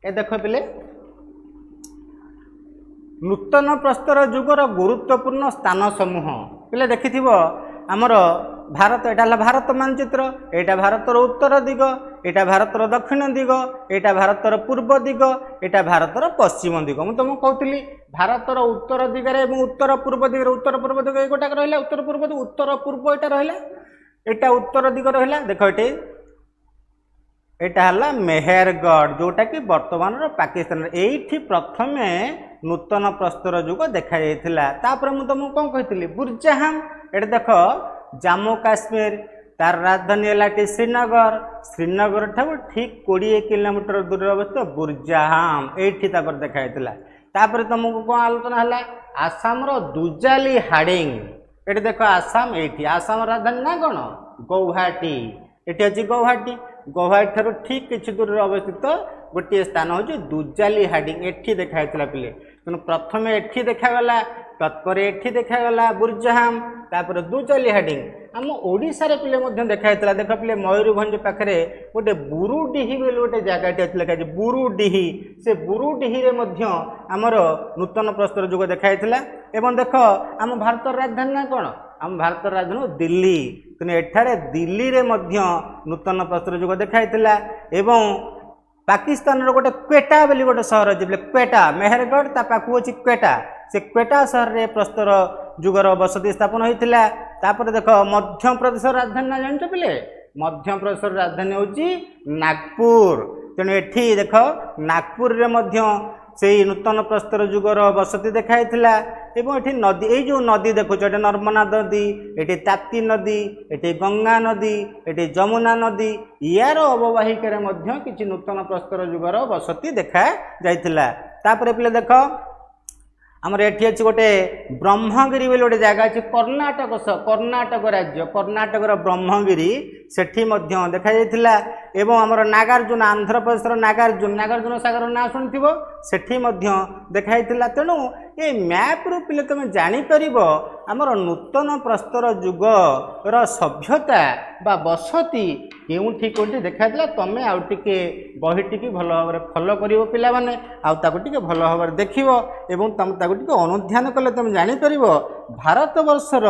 ଏ ଦେଖ ପିଲେ, ନୂତନ ପ୍ରସ୍ତର ଯୁଗର ଗୁରୁତ୍ୱପୂର୍ଣ୍ଣ ସ୍ଥାନ ସମୂହ। ପିଲେ ଦେଖିଥିବ ଆମର ଭାରତ, ଏଇଟା ହେଲା ଭାରତ ମାନଚିତ୍ର। ଏଇଟା ଭାରତର ଉତ୍ତର ଦିଗ, ଏଇଟା ଭାରତର ଦକ୍ଷିଣ ଦିଗ, ଏଇଟା ଭାରତର ପୂର୍ବ ଦିଗ, ଏଇଟା ଭାରତର ପଶ୍ଚିମ ଦିଗ। ମୁଁ ତୁମକୁ କହୁଥିଲି ଭାରତର ଉତ୍ତର ଦିଗରେ ଏବଂ ଉତ୍ତର ପୂର୍ବ ଦିଗରେ, ଉତ୍ତର ପୂର୍ବ ଦିଗ ଏଇ ଗୋଟାକ ରହିଲା, ଉତ୍ତର ପୂର୍ବ ଦିଗ, ଉତ୍ତର ପୂର୍ବ ଏଇଟା ରହିଲା, ଏଇଟା ଉତ୍ତର ଦିଗ ରହିଲା। ଦେଖ ଏଠି ଏଇଟା ହେଲା ମେହେରଗଡ଼, ଯେଉଁଟାକି ବର୍ତ୍ତମାନର ପାକିସ୍ତାନରେ। ଏଇଠି ପ୍ରଥମେ ନୂତନ ପ୍ରସ୍ତର ଯୁଗ ଦେଖାଯାଇଥିଲା। ତାପରେ ମୁଁ ତୁମକୁ କ'ଣ କହିଥିଲି? ବୁର୍ଜାହାମ। ଏଠି ଦେଖ ଜାମ୍ମୁ କାଶ୍ମୀର, ତାର ରାଜଧାନୀ ହେଲା ଏଠି ଶ୍ରୀନଗର। ଶ୍ରୀନଗର ଠାରୁ ଠିକ୍ 20 କିଲୋମିଟର ଦୂରରେ ଅବସ୍ଥିତ ବୁର୍ଜାହାମ, ଏଇଠି ତାପରେ ଦେଖାଯାଇଥିଲା। ତାପରେ ତୁମକୁ କ'ଣ ଆଲୋଚନା ହେଲା? ଆସାମର ଦୁଜାଲି ହାଡ଼ିଙ୍ଗ। ଏଠି ଦେଖ ଆସାମ, ଏଇଠି ଆସାମର ରାଜଧାନୀ ନା କ'ଣ? ଗୌହାଟୀ। ଏଠି ଅଛି ଗୌହାଟୀ। ଗୌହାଟୀ ଠାରୁ ଠିକ୍ କିଛି ଦୂରରେ ଅବସ୍ଥିତ ଗୋଟିଏ ସ୍ଥାନ ହେଉଛି ଦୁଜାଲି ହାଡ଼ିଙ୍ଗ, ଏଠି ଦେଖା ହେଇଥିଲା ପିଲେ। ତେଣୁ ପ୍ରଥମେ ଏଠି ଦେଖାଗଲା, ତତ୍ପରେ ଏଠି ଦେଖାଗଲା ବୁର୍ଜାହାମ, ତାପରେ ଦୁଜାଲି ହାଡ଼ିଙ୍ଗ। ଆମ ଓଡ଼ିଶାରେ ପିଲେ ମଧ୍ୟ ଦେଖା ହେଇଥିଲା। ଦେଖ ପିଲେ, ମୟୂରଭଞ୍ଜ ପାଖରେ ଗୋଟେ ବୁରୁଡିହି ବୋଲି ଗୋଟେ ଜାଗାଟି ଅଛି, ଲେଖା ହେଇଛି ବୁରୁଡିହି। ସେ ବୁରୁଡିହିରେ ମଧ୍ୟ ଆମର ନୂତନ ପ୍ରସ୍ତର ଯୁଗ ଦେଖାଯାଇଥିଲା। ଏବଂ ଦେଖ ଆମ ଭାରତର ରାଜଧାନୀ ନା କ'ଣ? ଆମ ଭାରତର ରାଜଧାନୀ ଦିଲ୍ଲୀ। ତେଣୁ ଏଠାରେ ଦିଲ୍ଲୀରେ ମଧ୍ୟ ନୂତନ ପ୍ରସ୍ତର ଯୁଗ ଦେଖାଯାଇଥିଲା। ଏବଂ ପାକିସ୍ତାନର ଗୋଟେ କ୍ୱେଟା ବୋଲି ଗୋଟେ ସହର ଅଛି ବୋଲେ, କ୍ୱେଟା, ମେହେରଗଡ଼ ତା ପାଖକୁ ଅଛି କ୍ୱେଟା। ସେ କ୍ୱେଟା ସହରରେ ପ୍ରସ୍ତର ଯୁଗର ବସତି ସ୍ଥାପନ ହୋଇଥିଲା। ତାପରେ ଦେଖ ମଧ୍ୟପ୍ରଦେଶର ରାଜଧାନୀ ନା ଜାଣିଛ ପିଲେ? ମଧ୍ୟପ୍ରଦେଶର ରାଜଧାନୀ ହେଉଛି ନାଗପୁର। ତେଣୁ ଏଠି ଦେଖ ନାଗପୁରରେ ମଧ୍ୟ ସେଇ ନୂତନ ପ୍ରସ୍ତର ଯୁଗର ବସତି ଦେଖାଯାଇଥିଲା। ଏବଂ ଏଠି ନଦୀ, ଏଇ ଯେଉଁ ନଦୀ ଦେଖୁଛ, ଏଠି ନର୍ମଦା ନଦୀ, ଏଠି ତାପ୍ତି ନଦୀ, ଏଠି ଗଙ୍ଗା ନଦୀ, ଏଠି ଯମୁନା ନଦୀ, ୟାର ଅବବାହିକାରେ ମଧ୍ୟ କିଛି ନୂତନ ପ୍ରସ୍ତର ଯୁଗର ବସତି ଦେଖାଯାଇଥିଲା। ତାପରେ ପିଲେ ଦେଖ ଆମର ଏଠି ଅଛି ଗୋଟେ ବ୍ରହ୍ମଗିରି ବୋଲି ଗୋଟେ ଜାଗା ଅଛି, କର୍ଣ୍ଣାଟକ, କର୍ଣ୍ଣାଟକ ରାଜ୍ୟ, କର୍ଣ୍ଣାଟକର ବ୍ରହ୍ମଗିରି, ସେଠି ମଧ୍ୟ ଦେଖାଯାଇଥିଲା। ଏବଂ ଆମର ନାଗାର୍ଜୁନ, ଆନ୍ଧ୍ରପ୍ରଦେଶର ନାଗାର୍ଜୁନ, ନାଗାର୍ଜୁନ ସାଗର ନାଁ ଶୁଣିଥିବ, ସେଠି ମଧ୍ୟ ଦେଖାଯାଇଥିଲା। ତେଣୁ ଏ ମ୍ୟାପ୍ରୁ ପିଲେ ତୁମେ ଜାଣିପାରିବ ଆମର ନୂତନ ପ୍ରସ୍ତର ଯୁଗର ସଭ୍ୟତା ବା ବସତି କେଉଁଠି କେଉଁଠି ଦେଖାଯାଇଥିଲା। ତୁମେ ଆଉ ଟିକେ ବହିଟିକି ଭଲ ଭାବରେ ଫଲୋ କରିବ ପିଲାମାନେ, ଆଉ ତାକୁ ଟିକେ ଭଲ ଭାବରେ ଦେଖିବ ଏବଂ ତୁମେ ତାକୁ ଟିକେ ଅନୁଧ୍ୟାନ କଲେ ତୁମେ ଜାଣିପାରିବ ଭାରତବର୍ଷର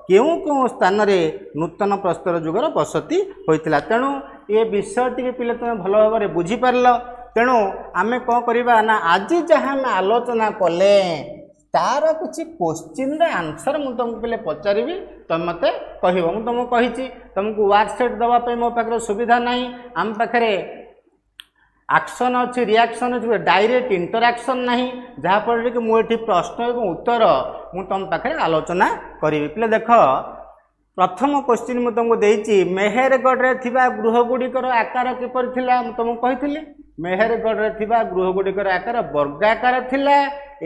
କେଉଁ କେଉଁ ସ୍ଥାନରେ ନୂତନ ପ୍ରସ୍ତର ଯୁଗର ବସତି ହୋଇଥିଲା। ତେଣୁ ଏ ବିଷୟ ଟିକେ ପିଲେ ତୁମେ ଭଲ ଭାବରେ ବୁଝିପାରିଲ। ତେଣୁ ଆମେ କ'ଣ କରିବା ନା, ଆଜି ଯାହା ଆମେ ଆଲୋଚନା କଲେ ତାର କିଛି କୋଶ୍ଚିନ୍ର ଆନ୍ସର୍ ମୁଁ ତୁମକୁ ପିଲେ ପଚାରିବି, ତୁମେ ମୋତେ କହିବ। ମୁଁ ତୁମକୁ କହିଛି ତୁମକୁ ୱାର୍କସେଟ୍ ଦେବା ପାଇଁ ମୋ ପାଖରେ ସୁବିଧା ନାହିଁ। ଆମ ପାଖରେ ଆକ୍ସନ୍ ଅଛି, ରିଆକ୍ସନ୍ ଅଛି, ଡାଇରେକ୍ଟ ଇଣ୍ଟରାକ୍ସନ୍ ନାହିଁ, ଯାହାଫଳରେ କି ମୁଁ ଏଠି ପ୍ରଶ୍ନ ଏବଂ ଉତ୍ତର ମୁଁ ତୁମ ପାଖରେ ଆଲୋଚନା କରିବି। ପିଲେ ଦେଖ, ପ୍ରଥମ କୋଶ୍ଚିନ୍ ମୁଁ ତୁମକୁ ଦେଇଛି, ମେହେରଗଡ଼ରେ ଥିବା ଗୃହ ଗୁଡ଼ିକର ଆକାର କିପରି ଥିଲା? ମୁଁ ତୁମକୁ କହିଥିଲି ମେହେରଗଡ଼ରେ ଥିବା ଗୃହ ଗୁଡ଼ିକର ଆକାର ବର୍ଗାକାର ଥିଲା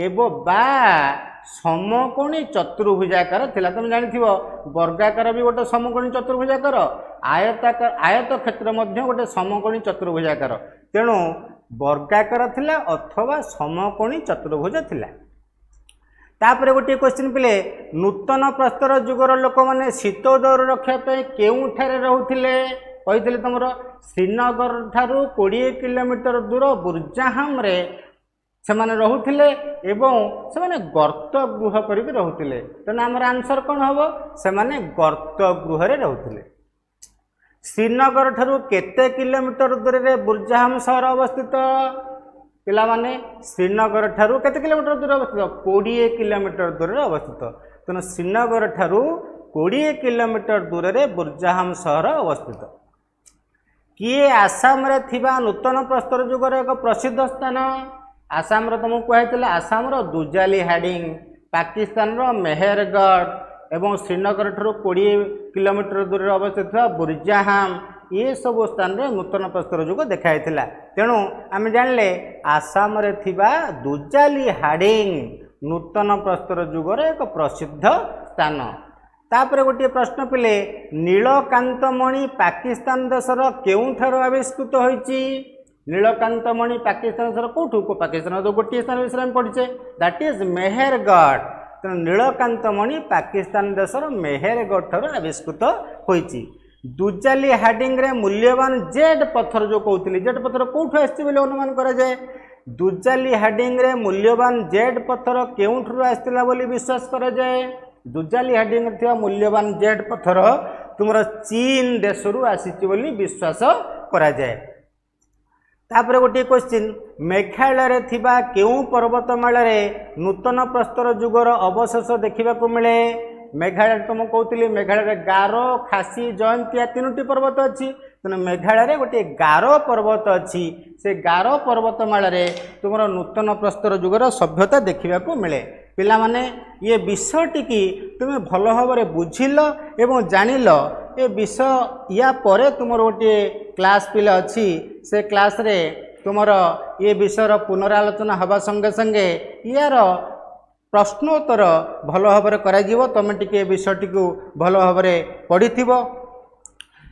ଏବଂ ବା ସମକୋଣୀ ଚତୁର୍ଭୁଜାକାର ଥିଲା। ତୁମେ ଜାଣିଥିବ ବର୍ଗାକାର ବି ଗୋଟେ ସମକୋଣୀ ଚତୁର୍ଭୁଜାକାର, ଆୟତାକାର ଆୟତ କ୍ଷେତ୍ର ମଧ୍ୟ ଗୋଟେ ସମକୋଣୀ ଚତୁର୍ଭୁଜାକାର। ତେଣୁ ବର୍ଗାକାର ଥିଲା ଅଥବା ସମକୋଣୀ ଚତୁର୍ଭୁଜ ଥିଲା। ତାପରେ ଗୋଟିଏ କ୍ୱେଶ୍ଚିନ୍ ପିଲେ, ନୂତନ ପ୍ରସ୍ତର ଯୁଗର ଲୋକମାନେ ଶୀତ ଦୌର ରଖିବା ପାଇଁ କେଉଁଠାରେ ରହୁଥିଲେ? କହିଥିଲେ ତୁମର ଶ୍ରୀନଗର ଠାରୁ 20 କିଲୋମିଟର ଦୂର ବୁର୍ଜାହାମରେ ସେମାନେ ରହୁଥିଲେ ଏବଂ ସେମାନେ ଗର୍ତ୍ତ ଗୃହ କରିକି ରହୁଥିଲେ। ତେଣୁ ଆମର ଆନ୍ସର୍ କ'ଣ ହେବ? ସେମାନେ ଗର୍ତ୍ତ ଗୃହରେ ରହୁଥିଲେ। ଶ୍ରୀନଗର ଠାରୁ କେତେ କିଲୋମିଟର ଦୂରରେ ବୁର୍ଜାହାମ ସହର ଅବସ୍ଥିତ? ପିଲାମାନେ, ଶ୍ରୀନଗର ଠାରୁ କେତେ କିଲୋମିଟର ଦୂରରେ ଅବସ୍ଥିତ? 20 କିଲୋମିଟର ଦୂରରେ ଅବସ୍ଥିତ। ତେଣୁ ଶ୍ରୀନଗର ଠାରୁ 20 କିଲୋମିଟର ଦୂରରେ ବୁର୍ଜାହାମ ସହର ଅବସ୍ଥିତ। କିଏ ଆସାମରେ ଥିବା ନୂତନ ପ୍ରସ୍ତର ଯୁଗର ଏକ ପ୍ରସିଦ୍ଧ ସ୍ଥାନ? ଆସାମର ତୁମକୁ କୁହାଯାଇଥିଲା ଆସାମର ଦୁଜାଲି ହାଡ଼ିଂ, ପାକିସ୍ତାନର ମେହେରଗଡ଼ ଏବଂ ଶ୍ରୀନଗର ଠାରୁ 20 କିଲୋମିଟର ଦୂରରେ ଅବସ୍ଥିତ ଥିବା ବୁର୍ଜାହାମ, ଏସବୁ ସ୍ଥାନରେ ନୂତନ ପ୍ରସ୍ତର ଯୁଗ ଦେଖାଯାଇଥିଲା। ତେଣୁ ଆମେ ଜାଣିଲେ ଆସାମରେ ଥିବା ଦୁଜାଲି ହାଡ଼ିଂ ନୂତନ ପ୍ରସ୍ତର ଯୁଗର ଏକ ପ୍ରସିଦ୍ଧ ସ୍ଥାନ। ତାପରେ ଗୋଟିଏ ପ୍ରଶ୍ନ ପିଲେ, ନୀଳକାନ୍ତମଣି ପାକିସ୍ତାନ ଦେଶର କେଉଁଠାରୁ ଆବିଷ୍କୃତ ହୋଇଛି? ନୀଳକାନ୍ତମଣି ପାକିସ୍ତାନ ଦେଶର କେଉଁଠୁ? ପାକିସ୍ତାନର ତ ଗୋଟିଏ ସ୍ଥାନ ବିଷୟରେ ଆମେ ପଢ଼ିଛେ, that is Mehrgarh. ତେଣୁ ନୀଳକାନ୍ତମଣି ପାକିସ୍ତାନ ଦେଶର ମେହେରଗଡ଼ ଠାରୁ ଆବିଷ୍କୃତ ହୋଇଛି। ଦୁଜାଲି ହାଡ଼ିଂରେ ମୂଲ୍ୟବାନ ଜେଡ୍ ପଥର ଯେଉଁ କହୁଥିଲି, ଜେଡ୍ ପଥର କେଉଁଠୁ ଆସିଛି ବୋଲି ଅନୁମାନ କରାଯାଏ? ଦୁଜାଲି ହାଡ଼ିଂରେ ମୂଲ୍ୟବାନ ଜେଡ୍ ପଥର କେଉଁଠାରୁ ଆସିଥିଲା ବୋଲି ବିଶ୍ୱାସ କରାଯାଏ? ଦୁଜାଲି ହାଡ଼ିଂରେ ଥିବା ମୂଲ୍ୟବାନ ଜେଡ୍ ପଥର ତୁମର ଚୀନ ଦେଶରୁ ଆସିଛି ବୋଲି ବିଶ୍ୱାସ କରାଯାଏ। ତାପରେ ଗୋଟିଏ କ୍ୱେଶ୍ଚିନ୍, ମେଘାଳୟରେ ଥିବା କେଉଁ ପର୍ବତମାଳାରେ ନୂତନ ପ୍ରସ୍ତର ଯୁଗର ଅବଶେଷ ଦେଖିବାକୁ ମିଳେ? ମେଘାଳୟରେ ତ ମୁଁ କହୁଥିଲି ମେଘାଳୟରେ ଗାରୋ, ଖାସି, ଜୟନ୍ତିଆ 3ଟି ପର୍ବତ ଅଛି। ତେଣୁ ମେଘାଳୟରେ ଗୋଟିଏ ଗାରୋ ପର୍ବତ ଅଛି, ସେ ଗାରୋ ପର୍ବତମାଳାରେ ତୁମର ନୂତନ ପ୍ରସ୍ତର ଯୁଗର ସଭ୍ୟତା ଦେଖିବାକୁ ମିଳେ। ପିଲାମାନେ, ଇଏ ବିଷୟଟିକି ତୁମେ ଭଲ ଭାବରେ ବୁଝିଲ ଏବଂ ଜାଣିଲ। ଏ ବିଷୟ ୟା ପରେ ତୁମର ଗୋଟିଏ କ୍ଲାସ୍ ପିଲା ଅଛି, ସେ କ୍ଲାସ୍ରେ ତୁମର ଏ ବିଷୟର ପୁନରାଲୋଚନା ହେବା ସଙ୍ଗେ ସଙ୍ଗେ ୟାର ପ୍ରଶ୍ନୋତ୍ତର ଭଲ ଭାବରେ କରାଯିବ। ତୁମେ ଟିକେ ଏ ବିଷୟଟିକୁ ଭଲ ଭାବରେ ପଢ଼ିଥିବ।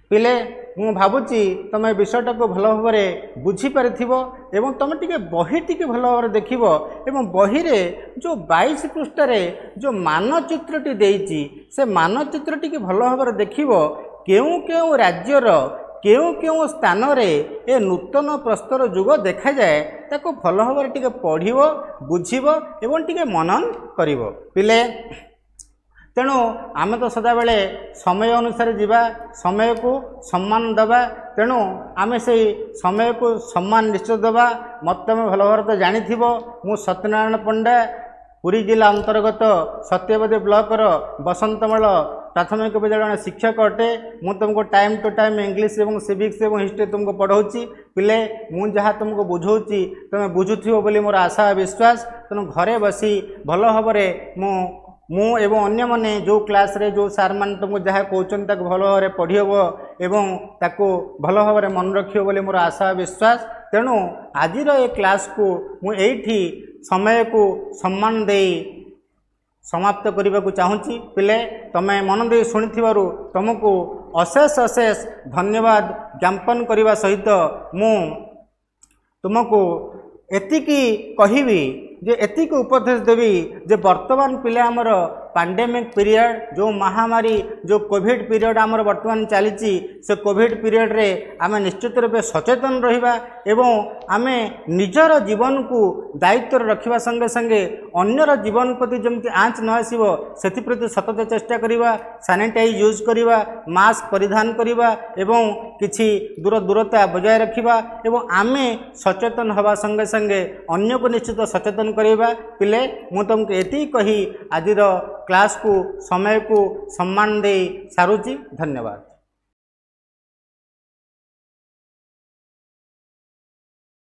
ପିଲେ, ମୁଁ ଭାବୁଛି ତୁମେ ବିଷୟଟାକୁ ଭଲ ଭାବରେ ବୁଝିପାରିଥିବ ଏବଂ ତୁମେ ଟିକେ ବହି ଟିକେ ଭଲ ଭାବରେ ଦେଖିବ ଏବଂ ବହିରେ ଯେଉଁ 22 ପୃଷ୍ଠାରେ ଯେଉଁ ମାନଚିତ୍ରଟି ଦେଇଛି ସେ ମାନଚିତ୍ରଟିକି ଭଲ ଭାବରେ ଦେଖିବ, କେଉଁ କେଉଁ ରାଜ୍ୟର କେଉଁ କେଉଁ ସ୍ଥାନରେ ଏ ନୂତନ ପ୍ରସ୍ତର ଯୁଗ ଦେଖାଯାଏ ତାକୁ ଭଲ ଭାବରେ ଟିକେ ପଢ଼ିବ, ବୁଝିବ ଏବଂ ଟିକେ ମନନ କରିବ ପିଲେ। ତେଣୁ ଆମେ ତ ସଦାବେଳେ ସମୟ ଅନୁସାରେ ଯିବା, ସମୟକୁ ସମ୍ମାନ ଦେବା। ତେଣୁ ଆମେ ସେଇ ସମୟକୁ ସମ୍ମାନ ନିଶ୍ଚୟ ଦେବା। ମୋତେ ତୁମେ ଭଲ ଭାବରେ ତ ଜାଣିଥିବ, ମୁଁ ସତ୍ୟନାରାୟଣ ପଣ୍ଡା, ପୁରୀ ଜିଲ୍ଲା ଅନ୍ତର୍ଗତ ସତ୍ୟବାଦୀ ବ୍ଲକର ବସନ୍ତମାଳ ପ୍ରାଥମିକ ବିଦ୍ୟାଳୟ ଜଣେ ଶିକ୍ଷକ ଅଟେ। ମୁଁ ତୁମକୁ ଟାଇମ୍ ଟୁ ଟାଇମ୍ ଇଂଲିଶ ଏବଂ ସିଭିକ୍ସ ଏବଂ ହିଷ୍ଟ୍ରି ତୁମକୁ ପଢ଼ାଉଛି। ପିଲେ, ମୁଁ ଯାହା ତୁମକୁ ବୁଝାଉଛି ତୁମେ ବୁଝୁଥିବ ବୋଲି ମୋର ଆଶା ବିଶ୍ୱାସ। ତେଣୁ ଘରେ ବସି ଭଲ ଭାବରେ ମୁଁ ଏବଂ ଅନ୍ୟମାନେ ଯେଉଁ କ୍ଲାସ୍ରେ ଯେଉଁ ସାର୍ମାନେ ତୁମକୁ ଯାହା କହୁଛନ୍ତି ତାକୁ ଭଲ ଭାବରେ ପଢ଼ି ହେବ ଏବଂ ତାକୁ ଭଲ ଭାବରେ ମନେ ରଖିବ ବୋଲି ମୋର ଆଶା ବିଶ୍ୱାସ। ତେଣୁ ଆଜିର ଏ କ୍ଲାସ୍କୁ ମୁଁ ଏଇଠି ସମୟକୁ ସମ୍ମାନ ଦେଇ ସମାପ୍ତ କରିବାକୁ ଚାହୁଁଛି। ପିଲେ, ତୁମେ ମନ ଦେଇ ଶୁଣିଥିବାରୁ ତୁମକୁ ଅଶେଷ ଅଶେଷ ଧନ୍ୟବାଦ ଜ୍ଞାପନ କରିବା ସହିତ ମୁଁ ତୁମକୁ ଏତିକି କହିବି ଯେ, ଏତିକି ଉପଦେଶ ଦେବି ଯେ ବର୍ତ୍ତମାନ ପିଲା ଆମର ପାଣ୍ଡେମିକ୍ ପିରିୟଡ଼, ଯେଉଁ ମହାମାରୀ, ଯେଉଁ କୋଭିଡ଼ ପିରିୟଡ଼ ଆମର ବର୍ତ୍ତମାନ ଚାଲିଛି, ସେ କୋଭିଡ଼ ପିରିୟଡ଼ରେ ଆମେ ନିଶ୍ଚିତ ରୂପେ ସଚେତନ ରହିବା ଏବଂ ଆମେ ନିଜର ଜୀବନକୁ ଦାୟିତ୍ୱରେ ରଖିବା ସଙ୍ଗେ ସଙ୍ଗେ ଅନ୍ୟର ଜୀବନ ପ୍ରତି ଯେମିତି ଆଞ୍ଚ ନ ଆସିବ ସେଥିପ୍ରତି ସତତ ଚେଷ୍ଟା କରିବା। ସାନିଟାଇଜ୍ ୟୁଜ୍ କରିବା, ମାସ୍କ ପରିଧାନ କରିବା ଏବଂ କିଛି ଦୂର ଦୂରତା ବଜାୟ ରଖିବା ଏବଂ ଆମେ ସଚେତନ ହେବା ସଙ୍ଗେ ସଙ୍ଗେ ଅନ୍ୟକୁ ନିଶ୍ଚିତ ସଚେତନ କରିବା। ପିଲେ, ମୁଁ ତୁମକୁ ଏତିକି କହି ଆଜିର କ୍ଲାସ୍କୁ ସମୟକୁ ସମ୍ମାନ ଦେଇ ସାରୁଛି। ଧନ୍ୟବାଦ।